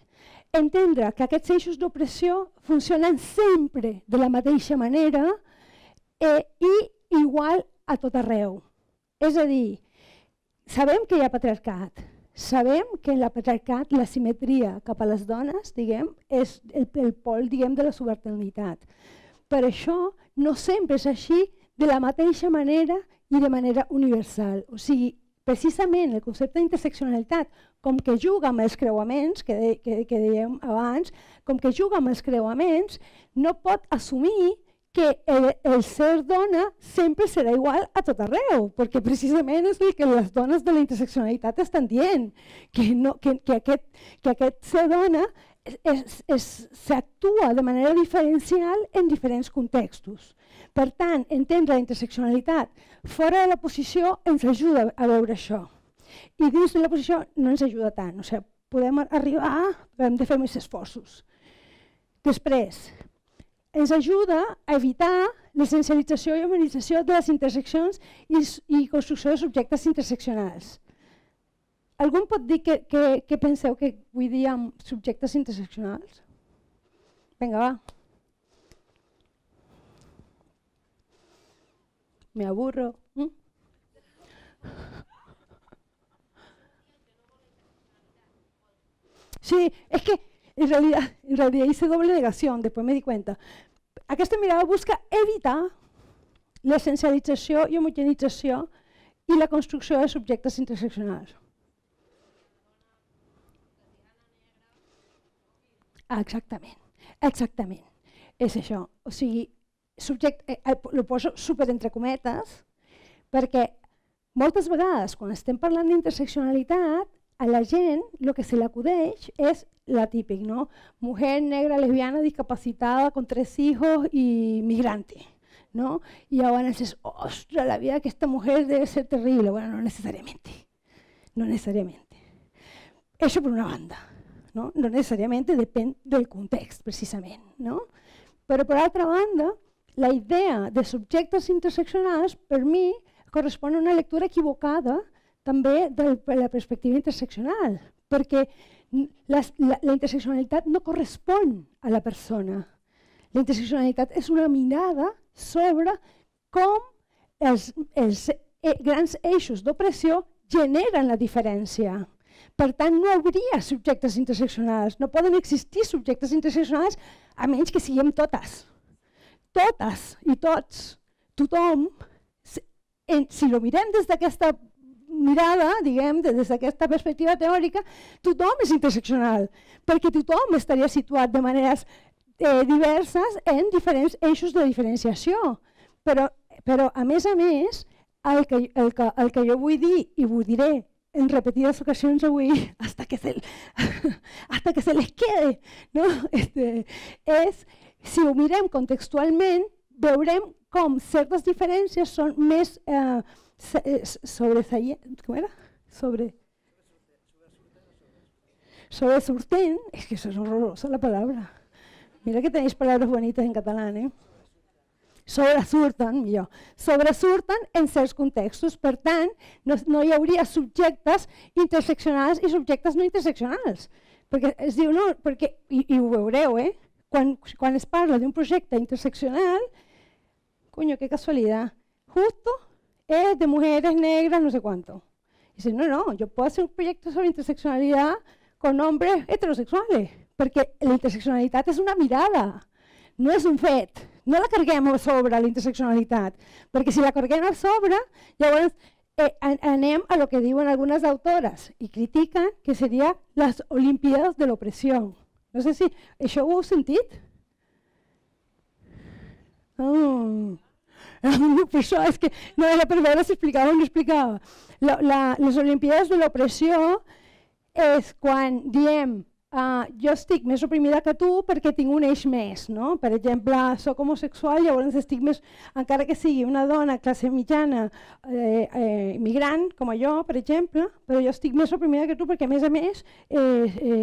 entendre que aquests eixos d'opressió funcionen sempre de la mateixa manera i igual a tot arreu. És a dir, sabem que hi ha patriarcat, sabem que en el patriarcat la simetria cap a les dones és el pol de la subalternitat. Per això no sempre és així de la mateixa manera i de manera universal. O sigui, precisament el concepte d'interseccionalitat, com que juga amb els creuaments, que dèiem abans, com que juga amb els creuaments, no pot assumir que el ser dona sempre serà igual a tot arreu, perquè precisament és el que les dones de la interseccionalitat estan dient, que aquest ser dona s'actua de manera diferencial en diferents contextos. Per tant, entendre la interseccionalitat fora de la posició ens ajuda a veure això. I dins de la posició no ens ajuda tant. O sigui, podem arribar, hem de fer més esforços. Després, ens ajuda a evitar l'essencialització i humanització de les interseccions i construcció de subjectes interseccionals. Algú pot dir què penseu que vull dir amb subjectes interseccionals? Vinga, va. Me aburro. Sí, es que en realidad hice doble negación, después me di cuenta. Aquesta mirada busca evitar l'essencialització i homogenització i la construcció de subjectes interseccionals. Exactament. És això. O sigui, ho poso super entre cometes, perquè moltes vegades quan estem parlant d'interseccionalitat, a la gent el que se le acudeix és la típica, ¿no? Mujer negra, lesbiana, discapacitada, con 3 hijos y migrante, ¿no? Y ahora dices, ostras, la vida de esta mujer debe ser terrible. Bueno, no necesariamente. Eso por una banda, no? No necessàriament depèn del context, precisament, no? Però per altra banda, la idea de subjectes interseccionals, per mi, correspon a una lectura equivocada també de la perspectiva interseccional, perquè la interseccionalitat no correspon a la persona. La interseccionalitat és una mirada sobre com els grans eixos d'opressió generen la diferència. Per tant, no hi hauria subjectes interseccionals, no poden existir subjectes interseccionals a menys que siguem totes. Totes i tots, tothom, si ho mirem des d'aquesta mirada, diguem, des d'aquesta perspectiva teòrica, tothom és interseccional, perquè tothom estaria situat de maneres diverses en diferents eixos de diferenciació. Però a més, el que jo vull dir, i vull diré en repetides ocasions avui, hasta que se les quede, no? És, si ho mirem contextualment, veurem com certes diferències són més sobresurten, és que això és horrorosa la paraula. Mira que tenéis palabras bonitas en catalán, ¿eh? Sobresurten, millor. Sobresurten en certs contextos, per tant, no hi hauria subjectes interseccionals i subjectes no interseccionals. Perquè es diu, no, perquè, i ho veureu, quan es parla d'un projecte interseccional, coño, qué casualidad, justo es de mujeres negras, no sé cuánto. Y dice, no, yo puedo hacer un proyecto sobre interseccionalidad con hombres heterosexuales, perquè la interseccionalitat és una mirada, no és un fet. No la carguem a sobre la interseccionalitat, perquè si la carguem a sobre, llavors anem a lo que diuen algunes autores i critiquen que seria les Olimpíades de l'opressió. No sé si això ho heu sentit? Això és que no era per veure si explicava o no explicava. Les Olimpíades de l'opressió és quan diem jo estic més oprimida que tu perquè tinc un eix més, no? Per exemple, soc homosexual, llavors estic més, encara que sigui una dona classe mitjana migrant, com jo, per exemple, però jo estic més oprimida que tu perquè a més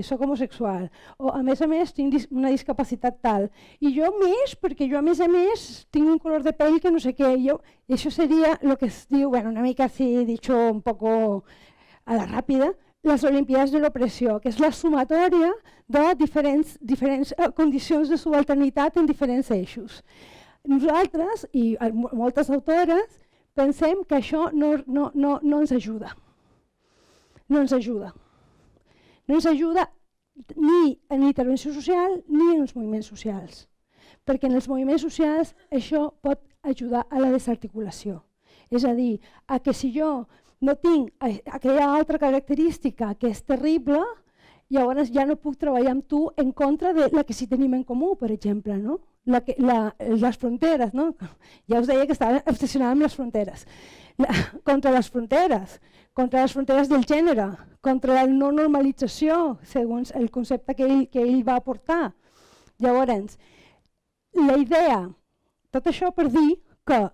soc homosexual, o a més tinc una discapacitat tal, i jo més perquè jo a més tinc un color de pell que no sé què, i això seria el que es diu, bueno, una mica así, dicho un poco a la ràpida, les Olimpíades de l'opressió, que és la sumatòria de diferents condicions de subalternitat en diferents eixos. Nosaltres, i moltes autores, pensem que això no ens ajuda. No ens ajuda. No ens ajuda ni en l'intervenció social ni en els moviments socials. Perquè en els moviments socials això pot ajudar a la desarticulació. És a dir, a que si jo no tinc aquella altra característica que és terrible, llavors ja no puc treballar amb tu en contra de la que sí tenim en comú, per exemple, no? Les fronteres, no? Ja us deia que estava obsessionada amb les fronteres. Contra les fronteres del gènere, contra la no normalització, segons el concepte que ell va aportar. Llavors, la idea, tot això per dir que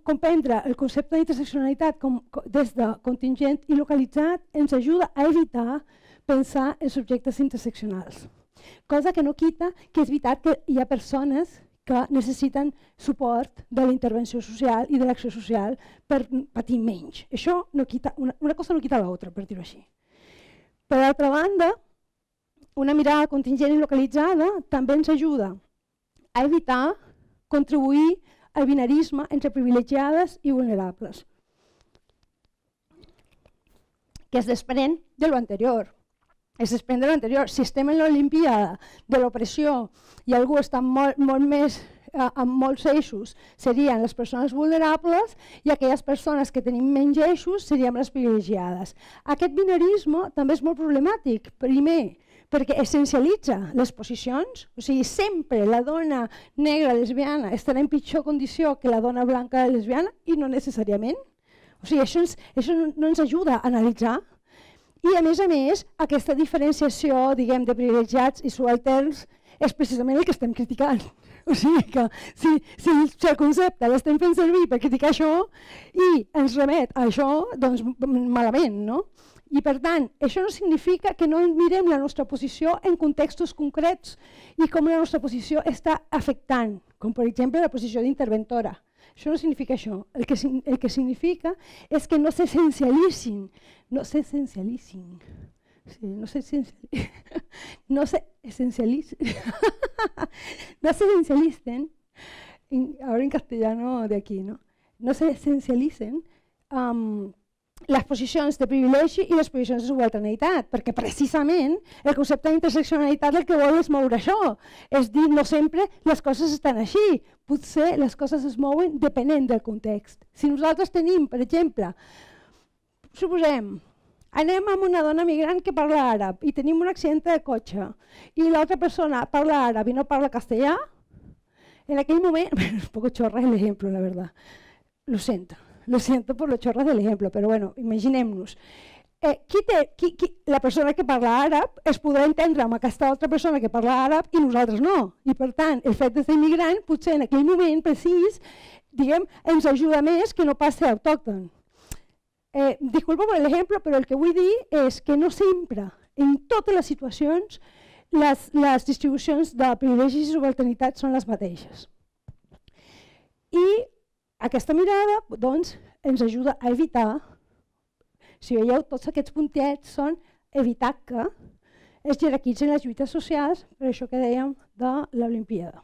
comprendre el concepte d'interseccionalitat des de contingent i localitzat ens ajuda a evitar pensar en subjectes interseccionals. Cosa que no quita que és veritat que hi ha persones que necessiten suport de la intervenció social i de l'acció social per patir menys. Això no quita, una cosa no quita l'altra, per dir-ho així. Per altra banda, una mirada contingent i localitzada també ens ajuda a evitar contribuir al binarisme entre privilegiades i vulnerables, que es desprèn de lo anterior. es desprèn de l'anterior. Si estem en l'Olimpíada de l'opressió i algú està molt més amb molts eixos, serien les persones vulnerables i aquelles persones que tenim menys eixos serien les privilegiades. Aquest binarisme també és molt problemàtic. Primer, perquè essencialitza les posicions, o sigui, sempre la dona negra lesbiana estarà en pitjor condició que la dona blanca lesbiana i no necessàriament. O sigui, això no ens ajuda a analitzar. I a més, aquesta diferenciació, diguem, de privilegiats i subalterns és precisament el que estem criticant. O sigui que si el concepte l'estem fent servir per criticar això i ens remet a això, doncs malament, no? I per tant, això no significa que no mirem la nostra posició en contextos concrets i com la nostra posició està afectant, com per exemple la posició d'interventora. Això no significa això. El que significa és que no s'essencialitzin, no s'essencialitzin, ahora en castellano de aquí, ¿no? No se esencialicen les posicions de privilegi i les posicions de subalternitat, perquè precisament el concepte d'interseccionalitat el que vol és moure això, és dir, no sempre les coses estan així, potser les coses es mouen depenent del context. Si nosaltres tenim, per exemple, suposem, anem amb una dona migrant que parla àrab i tenim un accident de cotxe i l'altra persona parla àrab i no parla castellà, en aquell moment, es un poco chorra el ejemplo, la verdad, lo siento por lo chorras del ejemplo, pero bueno, imaginem-nos. La persona que parla àrab es podrà entendre amb aquesta altra persona que parla àrab i nosaltres no. I per tant, el fet de ser immigrant potser en aquell moment precís, diguem, ens ajuda més que no pas ser autòcton. Disculpa per l'ejemplo, però el que vull dir és que no sempre, en totes les situacions, les distribucions de privilegis i subalternitat són les mateixes. I aquesta mirada doncs, ens ajuda a evitar, si veieu, tots aquests puntets són evitar que es jerarquitzen les lluites socials, per això que dèiem de l'Olimpíada.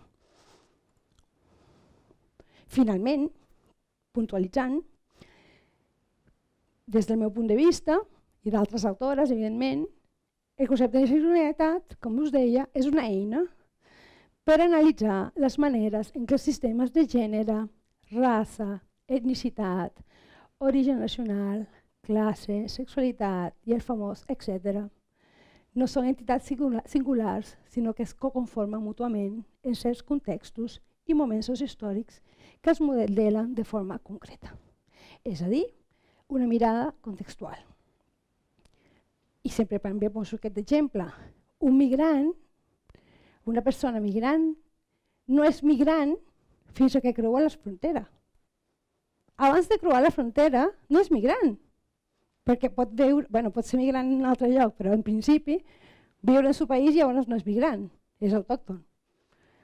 Finalment, puntualitzant, des del meu punt de vista, i d'altres autores, evidentment, el concepte de sexualitat, com us deia, és una eina per analitzar les maneres en què els sistemes de gènere, raça, etnicitat, origen nacional, classe, sexualitat i el famós etc. no són entitats singulars, sinó que es coconformen mútuament en certs contextos i moments històrics que es modelen de forma concreta. És a dir, una mirada contextual. I sempre també poso aquest exemple. Un migrant, una persona migrant, no és migrant fins que creua la frontera. Abans de creuar la frontera no és migrant, perquè pot ser migrant en un altre lloc, però en principi viure en el seu país llavors no és migrant, és autòcton.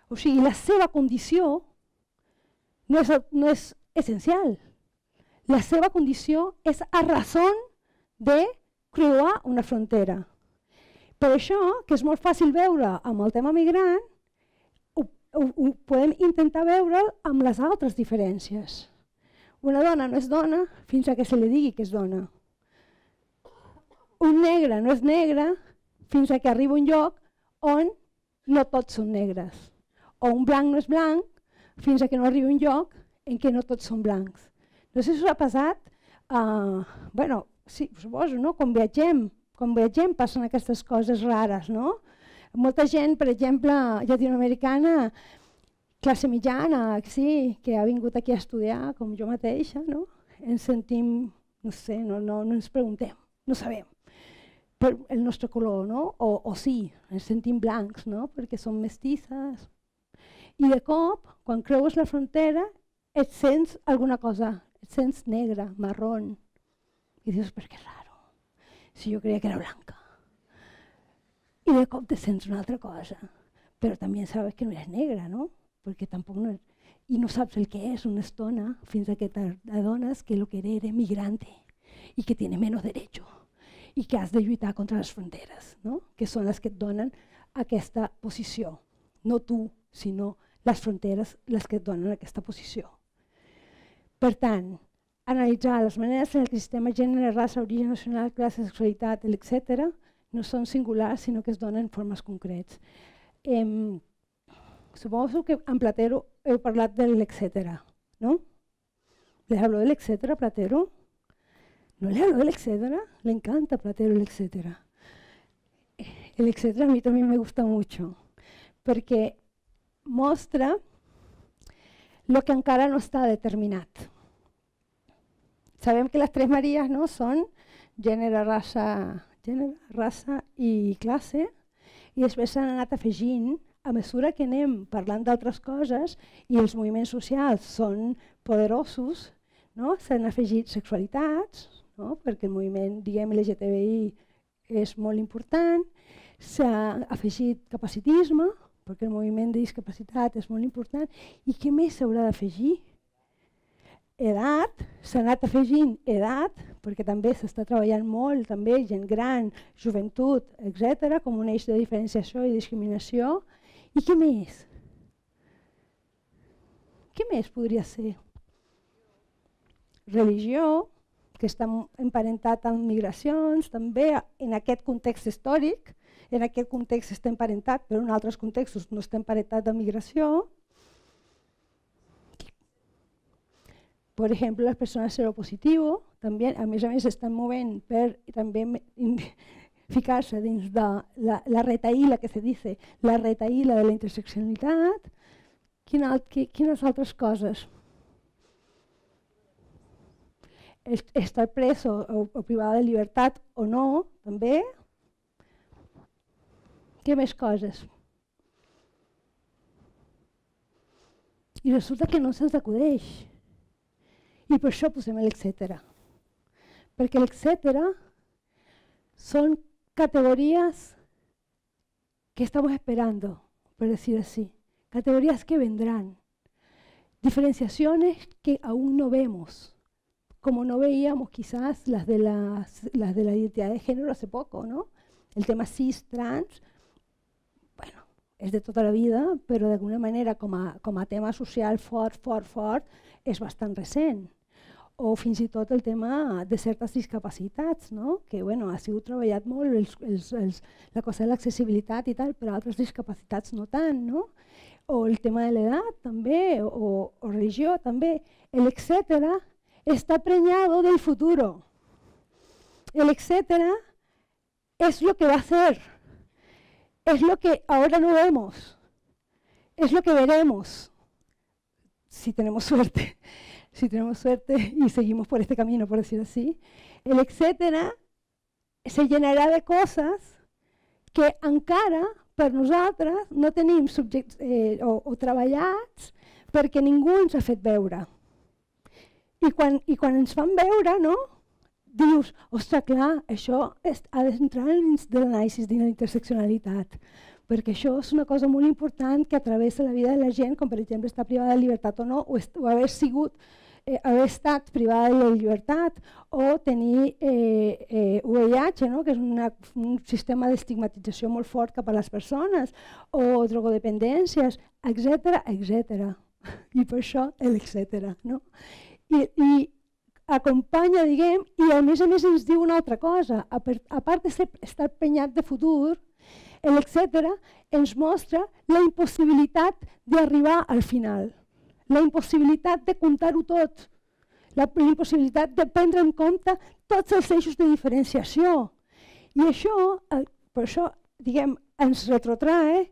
O sigui, la seva condició no és essencial. La seva condició és a raó de creuar una frontera. Per això, que és molt fàcil veure amb el tema migrant, ho podem intentar veure amb les altres diferències. Una dona no és dona fins que se li digui que és dona. Un negre no és negre fins que arriba a un lloc on no tots són negres. O un blanc no és blanc fins que no arriba a un lloc en què no tots són blancs. No sé si us ha passat, sí, suposo, no? Quan viatgem passen aquestes coses rares, no? Molta gent, per exemple, llatinoamericana, classe mitjana, sí, que ha vingut aquí a estudiar, com jo mateixa, no? Ens sentim, no sé, no ens preguntem, no sabem per el nostre color, no? O sí, ens sentim blancs, no? Perquè som mestisses. I de cop, quan creues la frontera, et sents alguna cosa, et sents negra, marrón. I dius, però que raro, si jo creia que era blanca. I de cop te sents una altra cosa, però també sabes que no eres negra, no? Perquè tampoc no... I no saps el que és una estona fins que t'adones que lo que eres migrante i que tiene menos derecho i que has de lluitar contra les fronteres, no? Que són les que et donen aquesta posició. No tu, sinó les fronteres les que et donen aquesta posició. Per tant, analitzar les maneres en què el sistema gènere, raça, origen nacional, classe, sexualitat, etc. no són singulars, sinó que es donen formes concrets. Suposo que en Platero heu parlat de l'etcètera, ¿no? ¿Le hablo del etcétera, Platero? ¿No le hablo del etcétera? Le encanta Platero el etcétera. El etcétera a mí también me gusta mucho, perquè mostra lo que encara no està determinat. Sabem que les tres Maries, no, són gènere, raça i classe, i després s'han anat afegint a mesura que anem parlant d'altres coses i els moviments socials són poderosos, no? S'han afegit sexualitats, no? Perquè el moviment, diguem, LGTBI és molt important, s'ha afegit capacitisme, perquè el moviment de discapacitat és molt important, i què més s'haurà d'afegir? Edat, s'ha anat afegint edat, perquè també s'està treballant molt, també gent gran, joventut, etc., com un eix de diferenciació i discriminació. I què més? Què més podria ser? Religió, que està emparentat amb migracions, també en aquest context històric, en aquest context està emparentat, però en altres contextos no està emparentat amb migració. Per exemple, les persones seropositives, també, a més, estan movent per també ficar-se dins de la retaïla que se dice, la retaïla de la interseccionalitat. Quines altres coses? Estar preso o privada de llibertat o no, també. Què més coses? I resulta que no se'ns acudeix. I per això posem l'etcètera. Perquè l'etcètera son categorías que estamos esperando, por decir así. Categorías que vendrán. Diferenciaciones que aún no vemos. Como no veíamos quizás las de la identidad de género hace poco, ¿no? El tema cis, trans, bueno, és de tota la vida, però d'alguna manera com a tema social fort, és bastant recent. O fins i tot el tema de certes discapacitats, no? Que bueno, ha sigut treballat molt la cosa de l'accessibilitat i tal, però altres discapacitats no tant, no? O el tema de l'edat també, o religió també. El etcétera está preñado del futuro. El etcétera es lo que va a ser. Es lo que ahora no vemos. Es lo que veremos. Si tenemos suerte. Si tenemos suerte y seguimos por este camino, por decir así. El etcétera se llenarà de coses que encara per nosaltres no tenim o treballats perquè ningú ens ha fet veure. I quan ens fan veure, no? Dius, ostres, clar, això ha d'entrar dins de l'anàlisi de la interseccionalitat, perquè això és una cosa molt important que travessa la vida de la gent, com per exemple estar privada de llibertat o no, o haver estat privada de la llibertat, o tenir VIH, no? Que és un sistema d'estigmatització molt fort cap a les persones, o drogodependències, etc. I per això l'etcètera, no? I acompanya, diguem, i a més ens diu una altra cosa. A part d'estar penyat de futur, l'etcètera ens mostra la impossibilitat d'arribar al final, la impossibilitat de comptar-ho tot, la impossibilitat de prendre en compte tots els eixos de diferenciació. I això, per això, diguem, ens retrotrae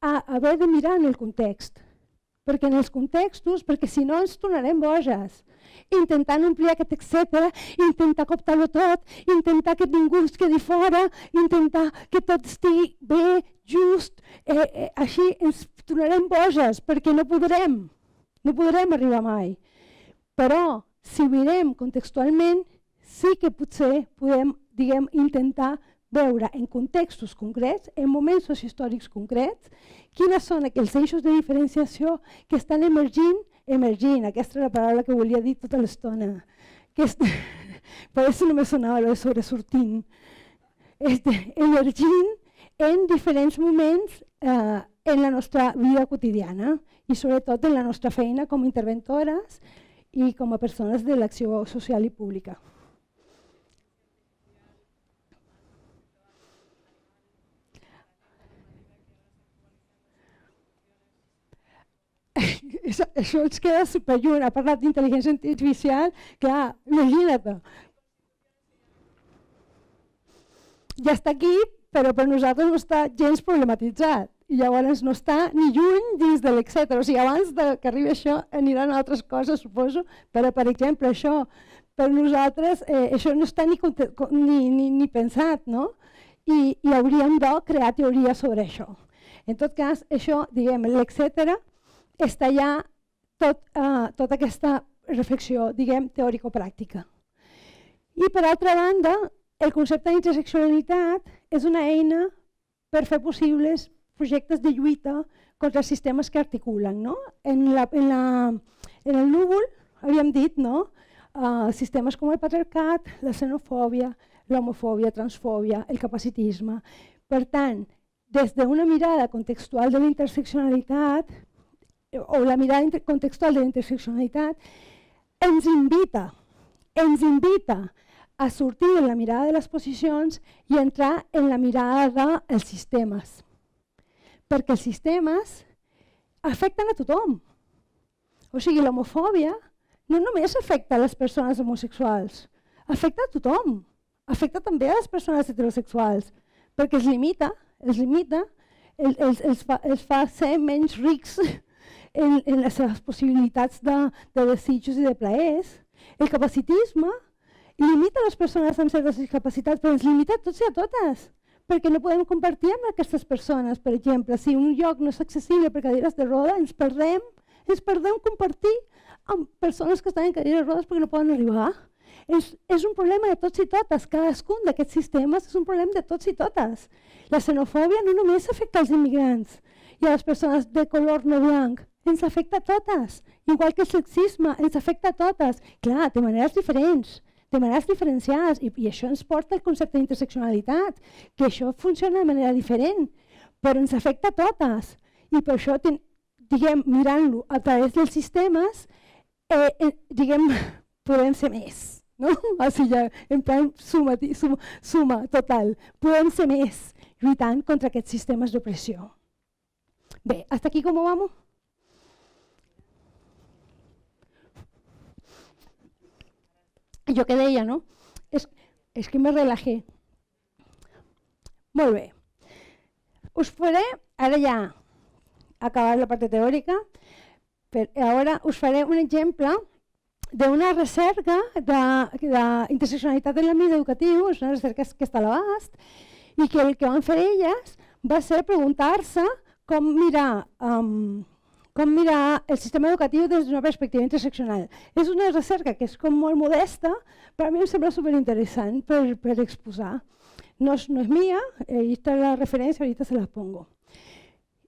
a haver de mirar en el context. Perquè en els contextos, perquè si no ens tornarem boges, intentant omplir aquest etcètera, intentar cooptar-ho tot, intentar que ningú es quedi fora, intentar que tot estigui bé, just, així ens tornarem boges, perquè no podrem arribar mai. Però, si ho mirem contextualment, sí que potser podem, diguem, intentar veure en contextos concrets, en moments sociohistòrics concrets, quines són aquells eixos de diferenciació que estan emergint, aquesta era la paraula que volia dir tota l'estona, per això no me sonava lo de sobresortint, emergint en diferents moments en la nostra vida quotidiana i sobretot en la nostra feina com a interventores i com a persones de l'acció social i pública. això ens queda superlluny. Ha parlat d'intel·ligència artificial, clar, imagina't. Ja està aquí, però per nosaltres no està gens problematitzat. I llavors no està ni lluny dins de l'etcètera. O sigui, abans que arribi això aniran altres coses, suposo, però per exemple això, per nosaltres això no està ni pensat, no? I hauríem de crear teoria sobre això. En tot cas, això, diguem, l'etcètera, està ja tota aquesta reflexió, diguem, teòrico-pràctica. I per altra banda, el concepte d'interseccionalitat és una eina per fer possibles projectes de lluita contra els sistemes que articulen. No? En el núvol havíem dit sistemes com el patriarcat, la xenofòbia, l'homofòbia, transfòbia, el capacitisme. Per tant, des d'una mirada contextual de la interseccionalitat, o la mirada contextual de la interseccionalitat, ens invita a sortir de la mirada de les posicions i entrar en la mirada dels sistemes. Perquè els sistemes afecten a tothom. O sigui, l'homofòbia no només afecta a les persones homosexuals, afecta a tothom. Afecta també a les persones heterosexuals, perquè els limita, els fa ser menys rics en les seves possibilitats de desitjos i de plaers. El capacitisme limita les persones amb certes discapacitats, però ens limita a tots i a totes, perquè no podem compartir amb aquestes persones. Per exemple, si un lloc no és accessible per cadires de roda, ens perdem compartir amb persones que estan en cadires de rodes perquè no poden arribar. És un problema de tots i totes. Cadascun d'aquests sistemes és un problema de tots i totes. La xenofòbia no només afecta als immigrants i a les persones de color no blanc, ens afecta a totes. Igual que el sexisme, ens afecta a totes. Clar, de maneres diferents, de maneres diferenciades, i això ens porta al concepte d'interseccionalitat, que això funciona de manera diferent, però ens afecta a totes. I per això, mirant-lo a través dels sistemes, podem ser més. No? O sigui, en plan suma total. Podem ser més lluitant contra aquests sistemes d'opressió. Bé, hasta aquí com vamos? Jo que deia, no? És que me relajé. Molt bé. Us faré, ara ja acabar la part teòrica, ara us faré un exemple d'una recerca d'interseccionalitat en l'àmbit educatiu, és una recerca que està a l'abast, i que el que van fer elles va ser preguntar-se com mirar el sistema educatiu des d'una perspectiva interseccional. És una recerca que és com molt modesta, però a mi em sembla superinteressant per exposar. No és mia, aquesta és la referència, ahorita se la pongo.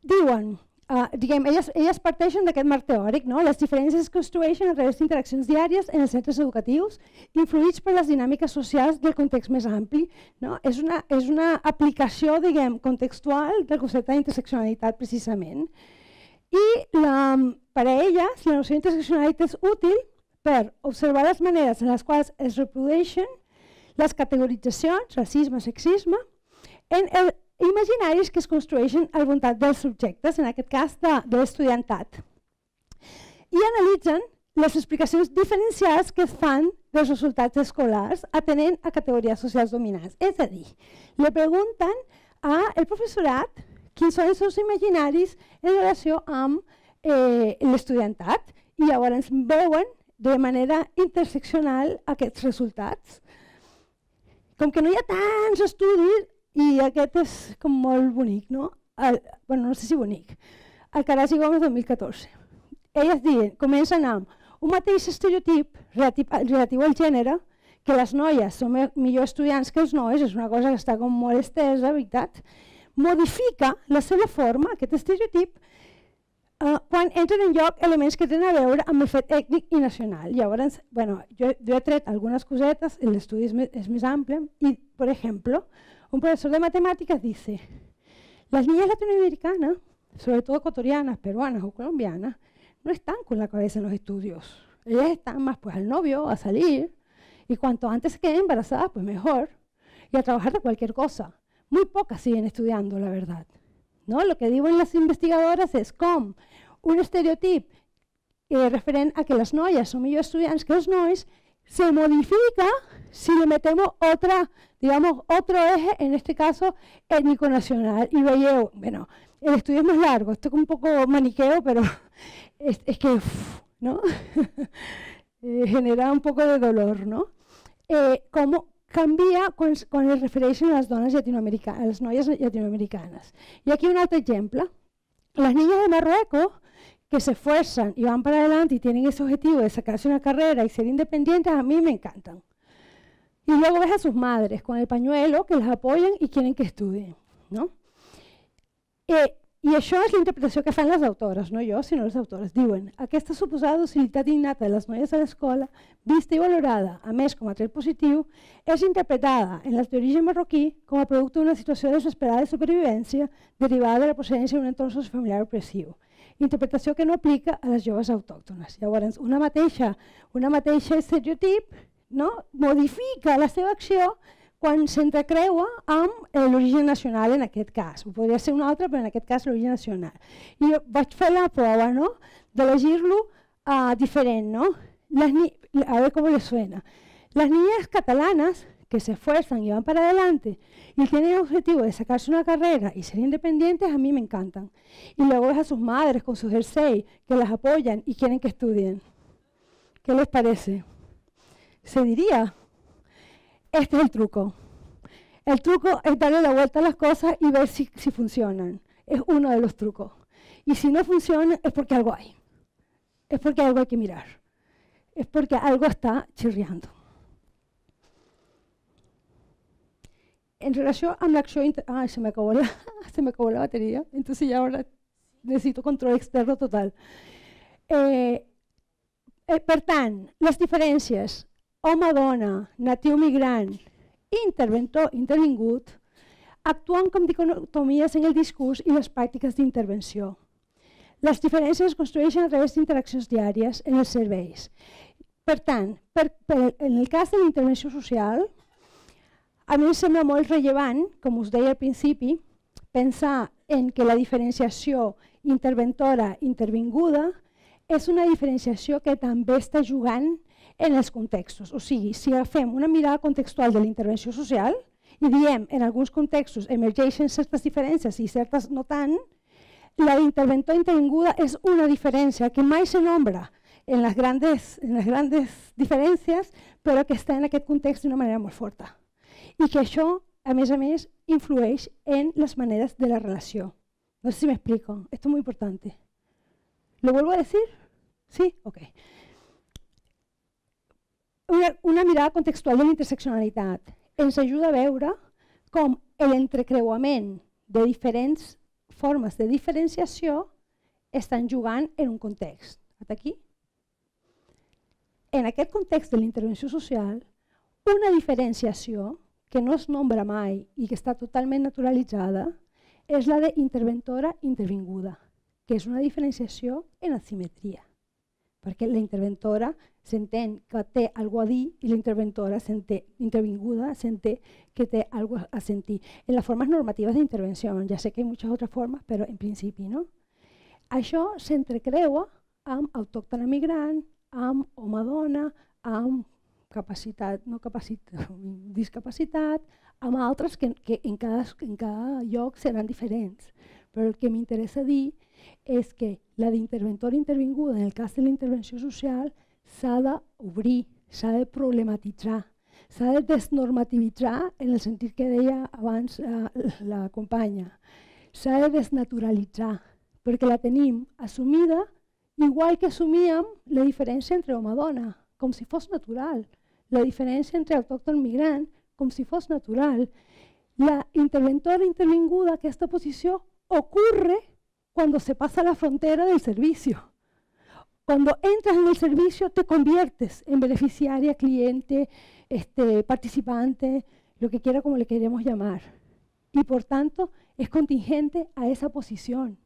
Diuen, elles parteixen d'aquest marc teòric, no? Les diferències es construeixen a través d'interaccions diàries en els centres educatius, influïts per les dinàmiques socials del context més ampli. No? És una aplicació contextual del concepte d'interseccionalitat, precisament. I per a elles, la noció d'interseccionalitat és útil per observar les maneres en les quals es reprodueixen les categoritzacions, racisme, sexisme, en imaginaris que es construeixen al voltant dels subjectes, en aquest cas de l'estudiantat. I analitzen les explicacions diferencials que es fan dels resultats escolars atenent a categories socials dominants. És a dir, li pregunten al professorat quins són els seus imaginaris en relació amb l'estudiantat i llavors veuen de manera interseccional aquests resultats. Com que no hi ha tants estudis, i aquest és com molt bonic, no? No sé si bonic. El Caras i Gómez 2014. Elles comencen amb un mateix estereotip relatiu al gènere, que les noies són millor estudiants que els nois, és una cosa que està com molt estesa, veritat, modifica la seva forma, aquest estereotip, quan entren en lloc elements que tenen a veure amb el fet ètnic i nacional. Llavors, jo he tret algunes cosetes, l'estudi és més ample, i, per exemple, un profesor de matemáticas dice, las niñas latinoamericanas, sobre todo ecuatorianas, peruanas o colombianas, no están con la cabeza en los estudios. Ellas están más pues al novio, a salir, y cuanto antes se queden embarazadas, pues mejor, y a trabajar de cualquier cosa. Muy pocas siguen estudiando, la verdad. ¿No? Lo que diuen les investigadores és com un estereotip referent a que les noies són millors estudiants que els nois, se modifica si le metemos otro eje, en este caso étnico-nacional. Y veieu, bueno, el estudio es más largo, esto es un poco maniqueo, pero es que, ¿no? Genera un poco de dolor, ¿no? Cómo canvia quan es refereixen a les dones llatinoamericanes, a les noies latinoamericanes. Y aquí un altre exemple. Las niñas de Marruecos que se esfuerzan y van para adelante y tienen ese objetivo de sacarse una carrera y ser independientes, a mí me encantan. Y luego ves a sus madres con el pañuelo que las apoyan y quieren que estudien, ¿no? I això és la interpretació que fan les autores, no jo, sinó les autores. Diuen, aquesta suposada docilitat innata de les noies a l'escola, vista i valorada, a més com a tret positiu, és interpretada en les d'origen marroquí com a producte d'una situació desesperada de supervivència derivada de la procedència d'un entorn sociofamiliar opressiu. Interpretació que no aplica a les joves autòctones. Llavors, una mateixa estereotip, no, modifica la seva acció quan s'entrecreua amb l'origen nacional en aquest cas. Podria ser un altre, però en aquest cas l'origen nacional. I jo vaig fer la prova, no?, d'elegir-lo diferent, ¿no? A ver cómo les suena. Las niñas catalanas que se esfuerzan y van para adelante y tienen el objetivo de sacarse una carrera y ser independientes, a mí me encantan. Y luego ves a sus madres con sus jersey que las apoyan y quieren que estudien. ¿Qué les parece? Se diría, este es el truco. El truco es darle la vuelta a las cosas y ver si funcionan. Es uno de los trucos. Y si no funciona es porque algo hay. Es porque algo hay que mirar. Es porque algo está chirriando. En relación a la acción... Ay, se me acabó la batería. Entonces ya ahora necesito control externo total. Per tant, les diferències home-dona, natiu-migrant, interventor-intervingut, actuen com dicotomies en el discurs i les pràctiques d'intervenció. Les diferències es construeixen a través d'interaccions diàries en els serveis. Per tant, en el cas de la intervenció social, a mi em sembla molt rellevant, com us deia al principi, pensar en que la diferenciació interventora-intervinguda és una diferenciació que també està jugant en els contextos. O sigui, si agafem una mirada contextual de la intervenció social i diem en alguns contextos emergeixen certes diferències i certes no tant, la d'interventor intervinguda és una diferència que mai se nombra en les grandes diferències, però que està en aquest context d'una manera molt forta. I que això, a més, influeix en les maneres de la relació. No sé si me explico, esto es muy importante. ¿Lo vuelvo a decir? ¿Sí? Ok. Una mirada contextual de la interseccionalitat ens ajuda a veure com l'entrecreuament de diferents formes de diferenciació estan jugant en un context. Fins aquí? En aquest context de la intervenció social, una diferenciació que no es nombra mai i que està totalment naturalitzada és la d'interventora intervinguda, que és una diferenciació en asimetria, perquè la interventora s'entén que té alguna cosa a dir i la interventora intervinguda s'entén que té alguna cosa a sentir. En les formes normatives d'intervenció, ja sé que hi ha moltes altres formes, però en principi, no? Això s'entrecreua amb autòctona migrant, amb home-dona, amb discapacitat, amb altres que en cada lloc seran diferents. Però el que m'interessa dir és que la d'interventora intervinguda, en el cas de la intervenció social, s'ha d'obrir, s'ha de problematitzar, s'ha de desnormativitzar en el sentit que deia abans la companya. S'ha de desnaturalitzar, perquè la tenim assumida igual que assumíem la diferència entre home i dona, com si fos natural. La diferència entre autòcton i migrant, com si fos natural. La interventora intervinguda, aquesta posició, ocurre cuando se pasa la frontera del servicio. Cuando entras en el servicio te conviertes en beneficiaria, cliente, participante, lo que quiera como le queremos llamar. Y por tanto es contingente a esa posición.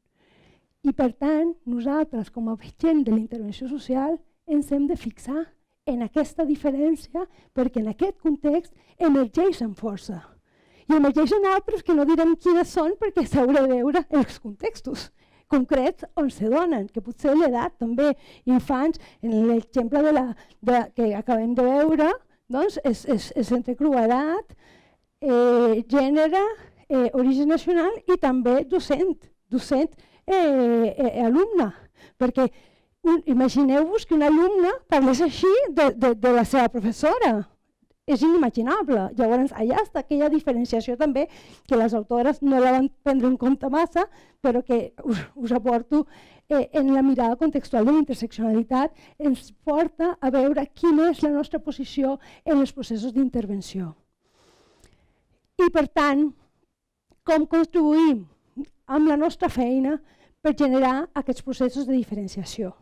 I per tant, nosaltres, com a gent de la intervenció social, ens hem de fixar en aquesta diferència perquè en aquest context emergeixen força. I emergeixen altres que no direm quines són perquè s'haurà de veure els contextos. concrets on se donen, que potser l'edat també, infants, en l'exemple que acabem de veure, doncs és entre cruedat, gènere, origen nacional i també docent alumne, perquè imagineu-vos que un alumne parlés així de la seva professora. És inimaginable. Llavors, allà està aquella diferenciació també que les autores no la van prendre en compte massa, però que us aporto en la mirada contextual de la interseccionalitat, ens porta a veure quina és la nostra posició en els processos d'intervenció. I, per tant, com contribuïm amb la nostra feina per generar aquests processos de diferenciació.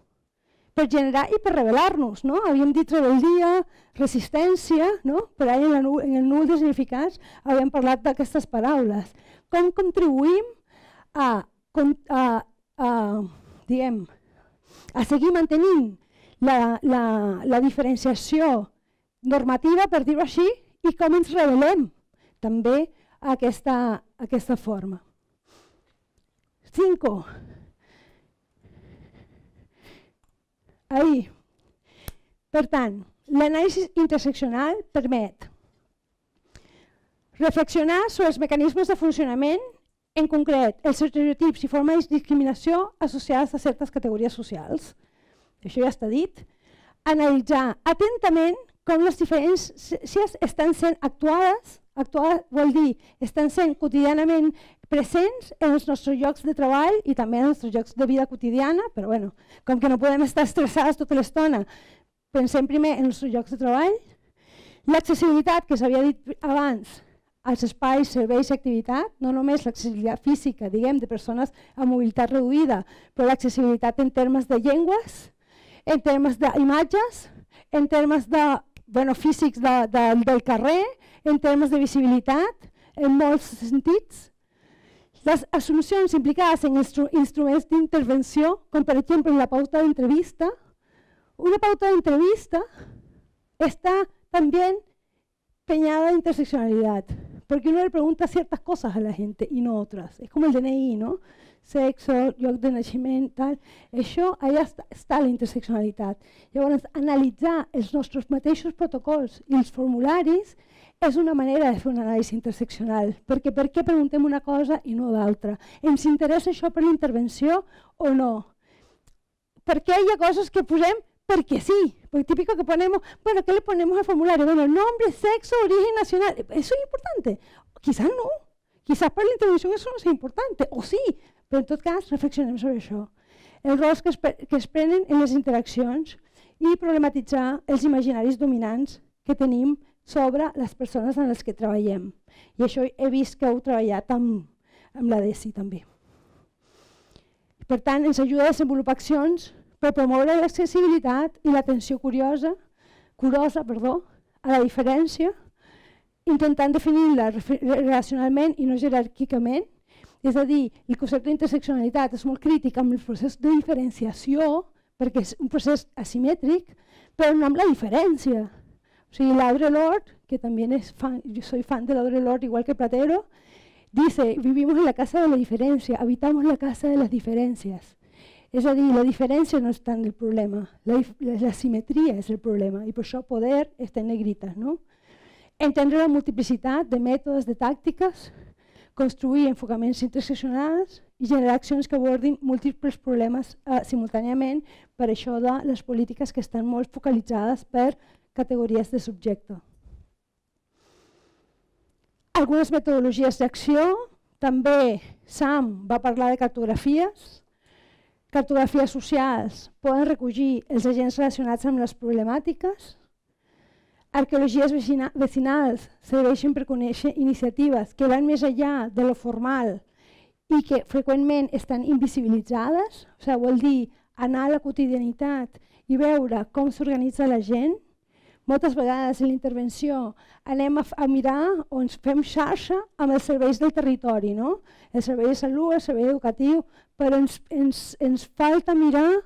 Per generar i per rebel·lar-nos, no? Havíem dit rebel·lia, resistència, no? Per ahí en el núvol de significats havíem parlat d'aquestes paraules. Com contribuïm a seguir mantenint la diferenciació normativa, per dir-ho així, i com ens rebel·lem també a aquesta forma. 5. Ahí. Per tant, l'anàlisi interseccional permet reflexionar sobre els mecanismes de funcionament, en concret, els estereotips i formes de discriminació associades a certes categories socials. Això ja està dit. Analitzar atentament com les diferències estan sent actuades vol dir, estan sent quotidianament presents en els nostres llocs de treball i també en els nostres llocs de vida quotidiana, però bueno, com que no podem estar estressades tota l'estona, pensem primer en els nostres llocs de treball. L'accessibilitat, que s'havia dit abans, als espais, serveis i activitat, no només l'accessibilitat física, diguem, de persones amb mobilitat reduïda, però l'accessibilitat en termes de llengües, en termes d'imatges, en termes físics del carrer, en termes de visibilitat, en molts sentits. Les assumpcions implicades en instruments d'intervenció, com per exemple la pauta d'entrevista. Una pauta d'entrevista está también peñada de interseccionalidad, porque uno le pregunta ciertas cosas a la gente y no otras. Es como el DNI, ¿no? Sexo, lloc de naixement, tal. Això, allà està la interseccionalitat. Llavors, analitzar els nostres mateixos protocols i els formularis és una manera de fer una anàlisi interseccional, perquè per què preguntem una cosa i no l'altra? Ens interessa això per la intervenció o no? Per què hi ha coses que posem porque sí? Porque típico que ponemos, bueno, ¿qué le ponemos al formulario? Bueno, nombre, sexo, origen nacional. ¿Eso es importante? Quizás no. Quizás para la intervención eso no sea importante, o sí, però en tot cas reflexionem sobre això. Els rols que es prenen en les interaccions i problematitzar els imaginaris dominants que tenim sobre les persones amb les que treballem. I això he vist que heu treballat amb la DESI també. Per tant, ens ajuda a desenvolupar accions per promoure l'accessibilitat i l'atenció curosa a la diferència, intentant definir-la relacionalment i no jeràrquicament. És a dir, el concepte d'interseccionalitat és molt crític amb el procés de diferenciació, perquè és un procés asimètric, però no amb la diferència. O sigui, Audre Lorde, que también es fan, yo soy fan de Audre Lorde igual que Platero, dice, vivimos en la casa de la diferencia, habitamos la casa de las diferencias. És a dir, la diferència no és tant el problema, la simetria és el problema, i per això poder està en negritas, no? Entendre la multiplicitat de mètodes, de tàctiques, construir enfocaments interseccionals i generar accions que abordin múltiples problemes simultàniament, per això de les polítiques que estan molt focalitzades per categories de subjecte. Algunes metodologies d'acció, també Sam va parlar de cartografies. Cartografies socials poden recollir els agents relacionats amb les problemàtiques. Arqueologies vecinals serveixen per conèixer iniciatives que van més enllà de lo formal i que freqüentment estan invisibilitzades, o sigui, vol dir anar a la quotidianitat i veure com s'organitza la gent. Moltes vegades en la intervenció anem a mirar o ens fem xarxa amb els serveis del territori, no? El servei de salut, el servei educatiu, però ens falta mirar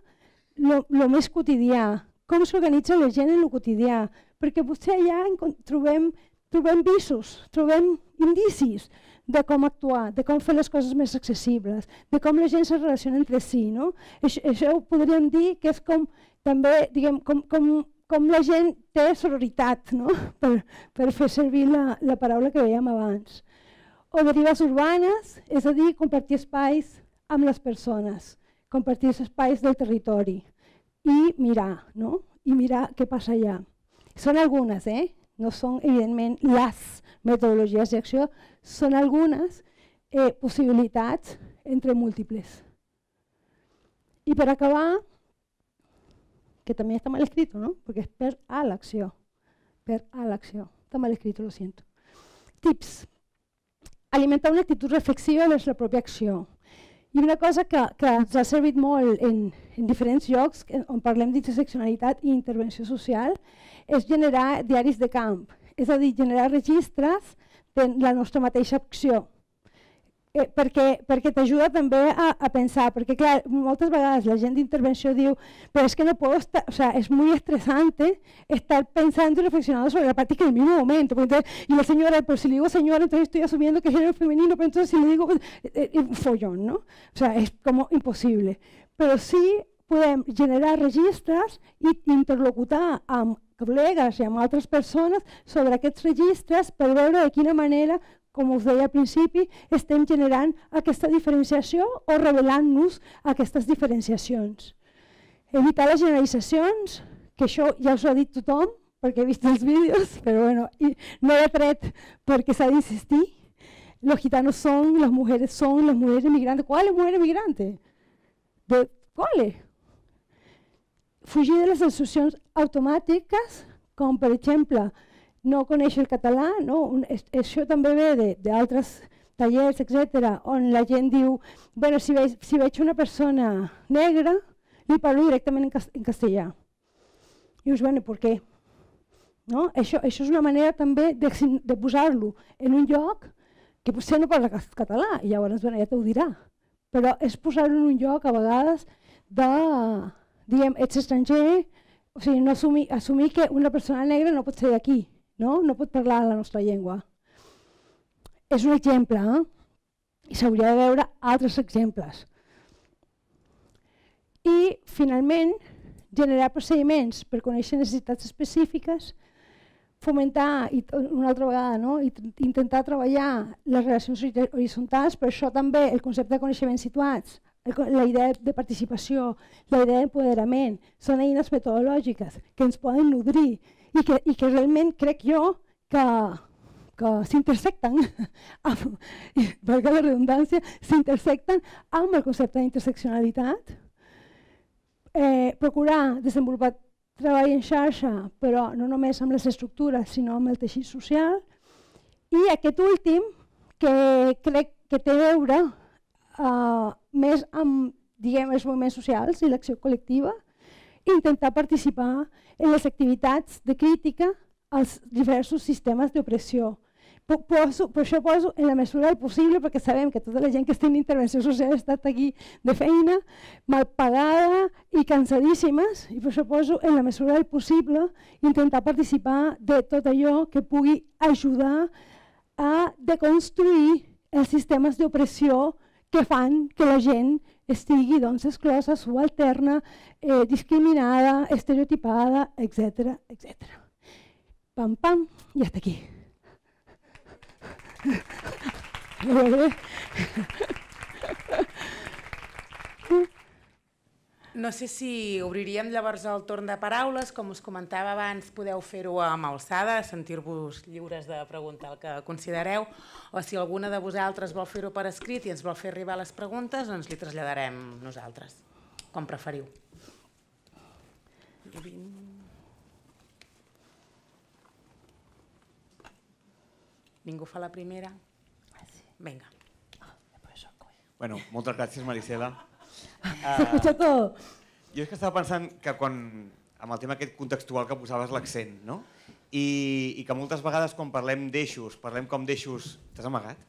el més quotidià, com s'organitza la gent en el quotidià, perquè potser allà trobem visos, trobem indicis de com actuar, de com fer les coses més accessibles, de com la gent se relaciona entre si. No? Això ho podríem dir que és com, també, diguem, com la gent té sororitat, no? per fer servir la paraula que veiem abans. O derives urbanes, és a dir, compartir espais amb les persones, compartir els espais del territori i mirar, no? I mirar què passa allà. Són algunes, no són evidentment les metodologies d'acció, són algunes possibilitats entre múltiples. I per acabar, que també està mal escrit, ¿no? Perquè és per a l'acció. Per a l'acció. Està mal escrit, lo siento. Tips. Alimentar una actitud reflexiva vers la pròpia acció. I una cosa que ens ha servit molt en diferents llocs on parlem d'interseccionalitat i intervenció social és generar diaris de camp, és a dir, generar registres de la nostra mateixa acció. Perquè t'ajuda també a pensar, perquè clar, moltes vegades la gent d'intervenció diu però és que no puedo estar, o sea, es muy estresante estar pensando y reflexionando sobre la práctica en el mismo momento. Y la señora, pero si le digo señora, entonces estoy asumiendo que es género femenino, pero entonces si le digo follón, ¿no? O sea, es como imposible. Però sí podem generar registres i interlocutar amb col·legues i amb altres persones sobre aquests registres per veure de quina manera, com us deia al principi, estem generant aquesta diferenciació o revelant-nos aquestes diferenciacions. Evitar les generalitzacions, que això ja us ho ha dit tothom, perquè he vist els vídeos, però bueno, no he tret perquè s'ha d'insistir. Los gitanos son, las mujeres inmigrantes. ¿Cuáles mujeres migrantes? ¿Cuáles? Fugir de les associacions automàtiques, com per exemple, no conèixer el català, no? Això també ve d'altres tallers, etc., on la gent diu, bueno, si veig una persona negra, li parlo directament en castellà. I dius, bueno, per què? No? Això és una manera també de posar-lo en un lloc que potser no parla català, i llavors ja t'ho dirà, però és posar-lo en un lloc a vegades de, diguem, ets estranger, o sigui, no assumir que una persona negra no pot ser d'aquí, no pot parlar la nostra llengua. És un exemple, i s'hauria de veure altres exemples. I, finalment, generar procediments per conèixer necessitats específiques, fomentar, una altra vegada, intentar treballar les relacions horitzontals, per això també el concepte de coneixements situats, la idea de participació, la idea d'empoderament, són eines metodològiques que ens poden nodrir i que realment crec jo que s'intersecten, valga la redundància, s'intersecten amb el concepte d'interseccionalitat. Procurar desenvolupar treball en xarxa, però no només amb les estructures, sinó amb el teixit social. I aquest últim, que crec que té a veure més amb, diguem, els moviments socials i l'acció col·lectiva, intentar participar en les activitats de crítica als diversos sistemes d'opressió. Per això poso en la mesura del possible, perquè sabem que tota la gent que està en intervenció social ha estat aquí de feina, mal pagada i cansadíssimes, i per això poso en la mesura del possible intentar participar de tot allò que pugui ajudar a deconstruir els sistemes d'opressió que fan que la gent estigui exclosa, subalterna, discriminada, estereotipada, etc. Pam, pam, i hasta aquí. No sé si obriríem llavors el torn de paraules. Com us comentava abans, podeu fer-ho amb alçada, sentir-vos lliures de preguntar el que considereu, o si alguna de vosaltres vol fer-ho per escrit i ens vol fer arribar les preguntes, doncs li traslladarem nosaltres, com preferiu. Ningú fa la primera? Vinga. Bueno, moltes gràcies, Marisela. S'escucha tot. Jo és que estava pensant que amb el tema aquest contextual que posaves l'accent, no? I que moltes vegades quan parlem d'eixos, parlem com d'eixos... T'has amagat?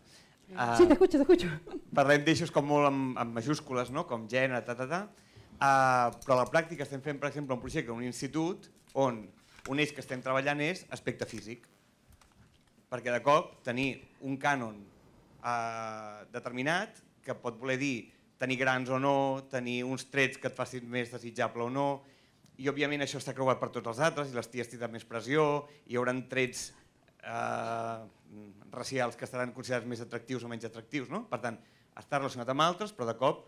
Sí, t'escucho. Parlem d'eixos com molt amb majúscules, no? Com gènere, però a la pràctica estem fent, per exemple, un projecte en un institut on un eix que estem treballant és aspecte físic. Perquè de cop tenir un cànon determinat, que pot voler dir tenir grans o no, tenir uns trets que et facin més desitjable o no, i òbviament això està creuat per tots els altres, i les ties tindran més pressió, hi haurà trets racials que estaran considerats més atractius o menys atractius, no? Per tant, està relacionat amb altres, però de cop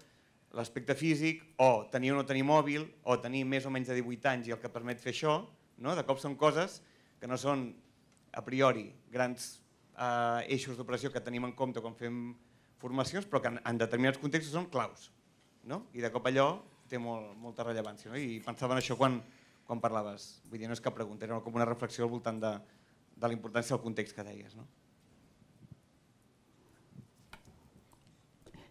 l'aspecte físic, o tenir o no tenir mòbil, o tenir més o menys de 18 anys i el que permet fer això, de cop són coses que no són a priori grans eixos d'operació que tenim en compte quan fem formacions, però que en determinats contextos són claus. I de cop allò té molta rellevància. I pensava en això quan parlaves. Vull dir, no és cap pregunta, era com una reflexió al voltant de la importància del context que deies.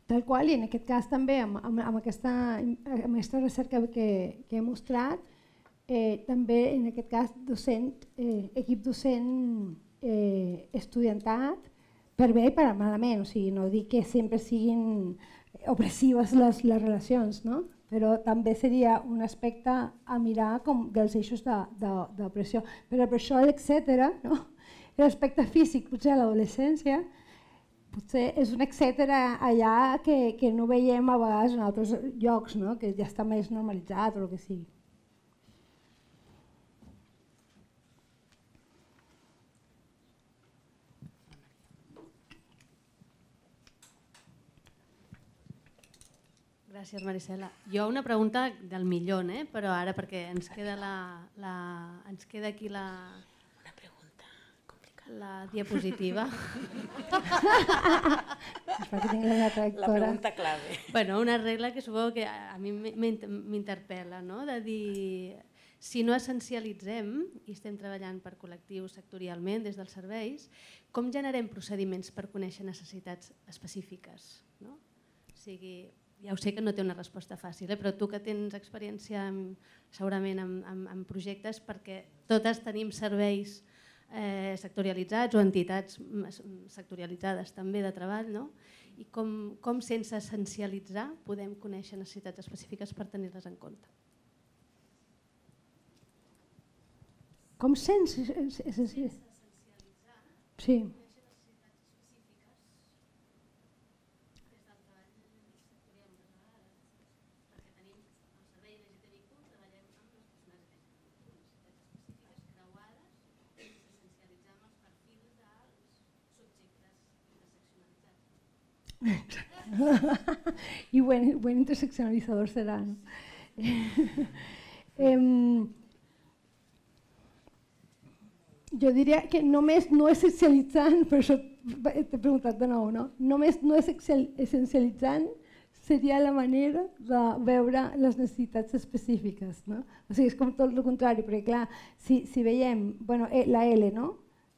Tal qual, i en aquest cas també, amb aquesta recerca que he mostrat, també en aquest cas equip docent estudiantat, per bé i per malament, o sigui, no dic que sempre siguin opressives les relacions, però també seria un aspecte a mirar com dels eixos d'opressió. Però per això l'etcètera, l'aspecte físic, potser a l'adolescència, potser és un etcètera allà que no veiem a vegades en altres llocs, que ja està més normalitzat o el que sigui. Gràcies, Marisela. Jo una pregunta del millor, però ara perquè ens queda aquí la diapositiva. La pregunta clave. Bueno, una regla que suposo que a mi m'interpel·la, de dir, si no essencialitzem i estem treballant per col·lectius sectorialment des dels serveis, com generem procediments per conèixer necessitats específiques? O sigui, ja ho sé que no té una resposta fàcil, però tu que tens experiència segurament en projectes, perquè totes tenim serveis sectorialitzats o entitats sectorialitzades també de treball, i com sense essencialitzar podem conèixer necessitats específiques per tenir-les en compte. Com sense essencialitzar? Sí. Y buen interseccionalizador será, ¿no? Jo diria que només no essencialitzant, per això t'he preguntat de nou, només no essencialitzant seria la manera de veure les necessitats específiques. O sigui, és com tot el contrari, perquè clar, si veiem la L,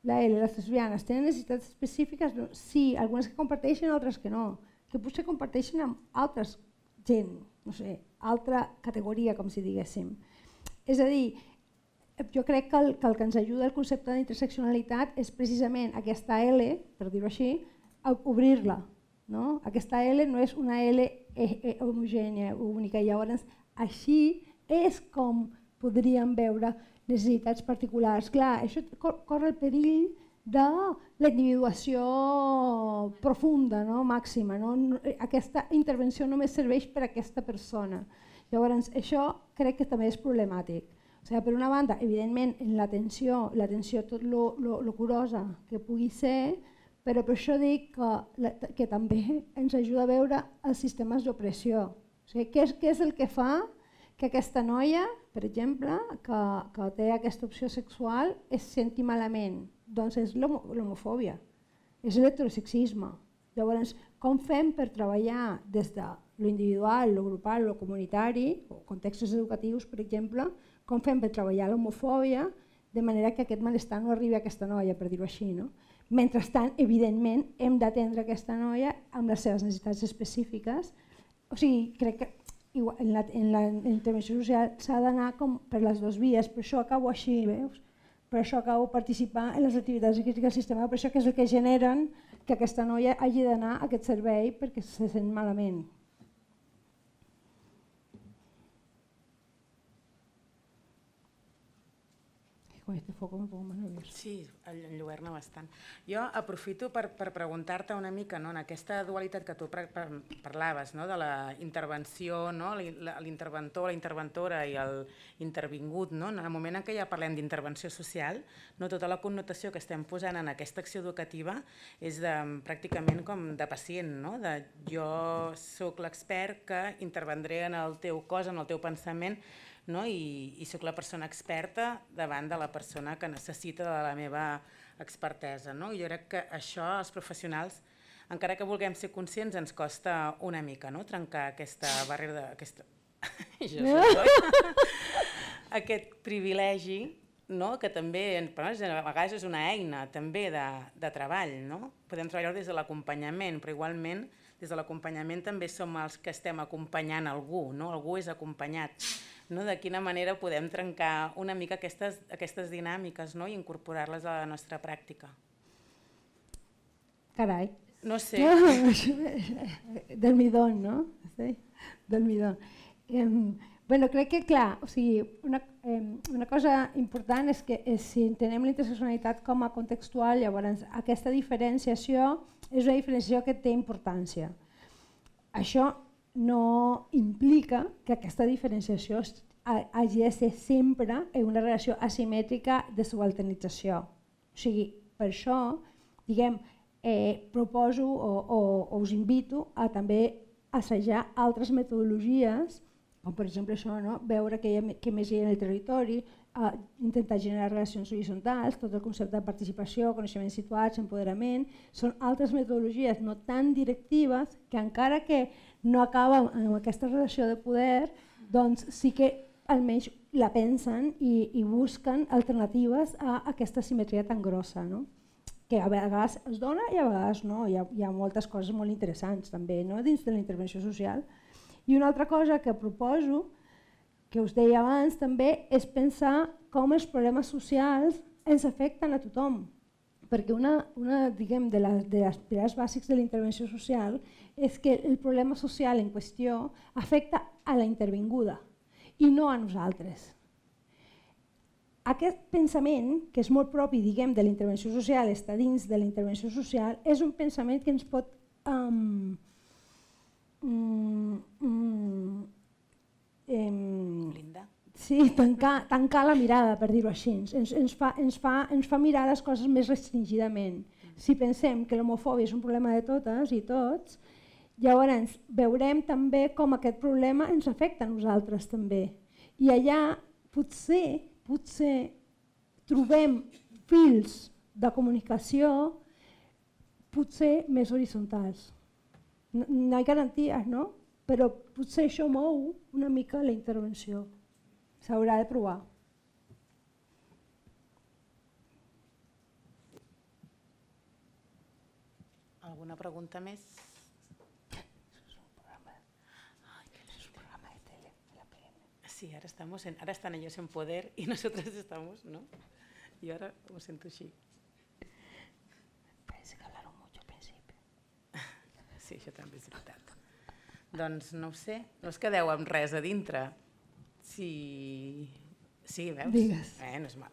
les lesbianes tenen necessitats específiques? Sí, algunes que comparteixen, altres que no, que potser comparteixen amb altres gent, no sé, altra categoria, com si diguéssim. És a dir, jo crec que el que ens ajuda el concepte d'interseccionalitat és precisament aquesta L, per dir-ho així, obrir-la. Aquesta L no és una L homogènia, única, i llavors així és com podríem veure necessitats particulars. Clar, això corre el perill de la individuació profunda, màxima. Aquesta intervenció només serveix per a aquesta persona. Llavors, això crec que també és problemàtic. Per una banda, evidentment, en l'atenció tot lo curosa que pugui ser, però per això dic que també ens ajuda a veure els sistemes d'opressió. Què és el que fa que aquesta noia, per exemple, que té aquesta opció sexual, es senti malament? Doncs és l'homofòbia, és l'heterosexisme. Llavors, com fem per treballar des de lo individual, lo grupal, lo comunitari, o contextos educatius, per exemple, com fem per treballar l'homofòbia de manera que aquest malestar no arribi a aquesta noia, per dir-ho així. Mentrestant, evidentment, hem d'atendre aquesta noia amb les seves necessitats específiques. O sigui, crec que en la intervenció social s'ha d'anar per les dues vies, per això acabo així, veus? Per això acabo participar en les activitats de crítica al sistema, per això que és el que generen que aquesta noia hagi d'anar a aquest servei perquè se sent malament. con este foco me pongo más nerviosa. Sí, enlluerna bastant. Jo aprofito per preguntar-te una mica, no, en aquesta dualitat que tu parlaves, no, de la intervenció, no, l'interventor, la interventora i l'intervingut, no, en el moment en què ja parlem d'intervenció social, no, tota la connotació que estem posant en aquesta acció educativa és pràcticament com de pacient, no, de jo sóc l'expert que intervendré en el teu cos, en el teu pensament, no? I sóc la persona experta davant de la persona que necessita de la meva expertesa. No? Jo crec que això als professionals, encara que vulguem ser conscients, ens costa una mica, no? Trencar aquesta barrera, aquest privilegi, no? Que també a vegades és una eina també de treball. No? Podem treballar des de l'acompanyament, però igualment des de l'acompanyament també som els que estem acompanyant algú, no? Algú és acompanyat. No? De quina manera podem trencar una mica aquestes dinàmiques, no? I incorporar-les a la nostra pràctica. Carai. No sé. Del midón, no? Sí? Del midón. Bueno, crec que, clar, o sigui, una cosa important és que si entenem la interseccionalitat com a contextual, llavors aquesta diferenciació és una diferenciació que té importància. Això no implica que aquesta diferenciació hagi de ser sempre en una relació asimètrica de subalternització. O sigui, per això, diguem, proposo o us invito a també assajar altres metodologies, com per exemple això, no? Veure què més hi ha en el territori, intentar generar relacions horitzontals, tot el concepte de participació, coneixements situats, empoderament, són altres metodologies no tan directives que encara que no acaben amb aquesta relació de poder, doncs sí que almenys la pensen i busquen alternatives a aquesta simetria tan grossa, no? Que a vegades es dona i a vegades no. Hi ha moltes coses molt interessants també, no? Dins de la intervenció social. I una altra cosa que proposo, que us deia abans també, és pensar com els problemes socials ens afecten a tothom. Perquè una de les pilars bàsics de la intervenció social és que el problema social en qüestió afecta a la intervinguda i no a nosaltres. Aquest pensament, que és molt propi de la intervenció social, està dins de la intervenció social, és un pensament que ens pot tancar la mirada, per dir-ho així. Ens fa mirar les coses més restringidament. Si pensem que l'homofòbia és un problema de totes i tots, llavors veurem també com aquest problema ens afecta a nosaltres també. I allà potser trobem fils de comunicació potser més horitzontals. No hi ha garanties, no? Però potser això mou una mica la intervenció. S'haurà de provar. Alguna pregunta més? És un programa de tele, de la PM. Sí, ahora están ellos en poder y nosotros estamos, ¿no? Y ahora lo siento así. Parece que hablaron mucho al principio. Sí, això també és veritat. Doncs no ho sé, no us quedeu amb res a dintre. Sí, veus? Digues. No és mal.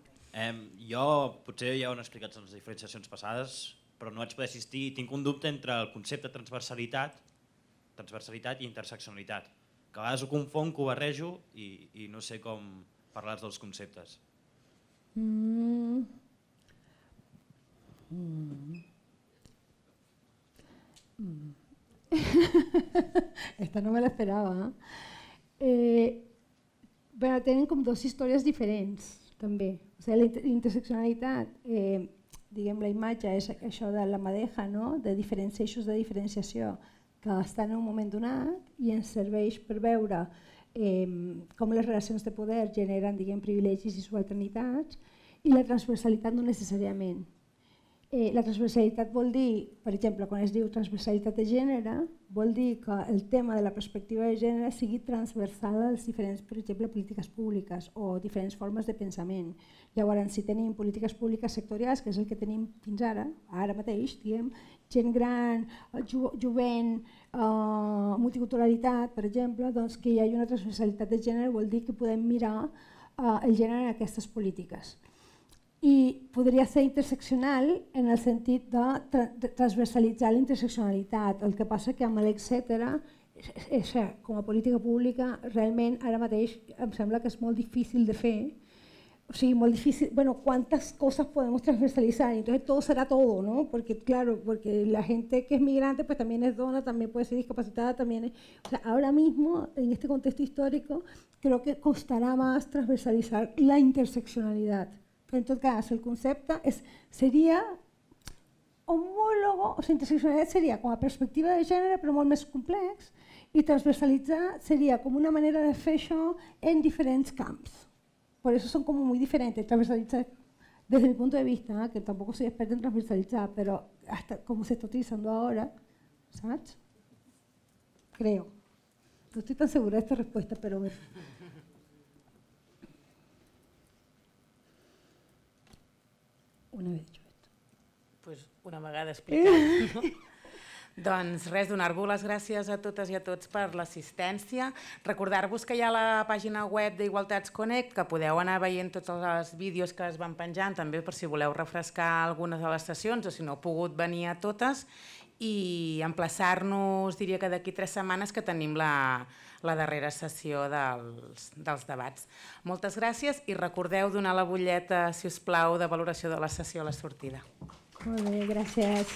Jo potser ja ho he explicat en les diferenciacions passades, però no vaig poder assistir i tinc un dubte entre el concepte de transversalitat i interseccionalitat, que a vegades ho confonc, ho barrejo i no sé com parlar dels conceptes. Esta no me la esperava. Tenen com dues històries diferents, també. La interseccionalitat, la imatge és això de la madeja, de diferents eixos de diferenciació que estan en un moment donat i ens serveix per veure com les relacions de poder generen privilegis i subalternitats, i la transversalitat no necessàriament. La transversalitat vol dir, per exemple, quan es diu transversalitat de gènere, vol dir que el tema de la perspectiva de gènere sigui transversal a les diferents, per exemple, polítiques públiques o diferents formes de pensament. Llavors, si tenim polítiques públiques sectorials, que és el que tenim fins ara mateix, gent gran, jovent, multiculturalitat, per exemple, doncs que hi hagi una transversalitat de gènere vol dir que podem mirar el gènere en aquestes polítiques. i podria ser interseccional en el sentit de transversalitzar la interseccionalitat. El que passa que amb l'etcètera, com a política pública, realment ara mateix em sembla que és molt difícil de fer. O sigui, molt difícil, bueno, ¿cuántas cosas podemos transversalizar? Entonces todo será todo, ¿no? Porque claro, porque la gente que es migrante pues también es dona, también puede ser discapacitada, también es... O sea, ahora mismo, en este contexto histórico, creo que costará más transversalizar la interseccionalidad. Però en tot cas, el concepte seria homòlogo, o sigui, interseccionalitat seria com a perspectiva de gènere però molt més complex i transversalitzar seria com una manera de fer això en diferents camps. Por eso son como muy diferentes, transversalizar desde mi punto de vista, que tampoco soy experta en transversalizar, pero hasta como se está utilizando ahora, ¿sabes? Creo. No estoy tan segura de esta respuesta, pero... Una vez dicho esto. Pues una vegada explicat, no? Doncs res, donar-vos les gràcies a totes i a tots per l'assistència. Recordar-vos que hi ha la pàgina web d'Igualtats Connect, que podeu anar veient tots els vídeos que es van penjant, també per si voleu refrescar algunes de les sessions o si no heu pogut venir a totes, i emplaçar-nos, diria que d'aquí 3 setmanes que tenim la darrera sessió dels debats. Moltes gràcies i recordeu donar la butlleta, si us plau, de valoració de la sessió a la sortida. Molt bé, gràcies.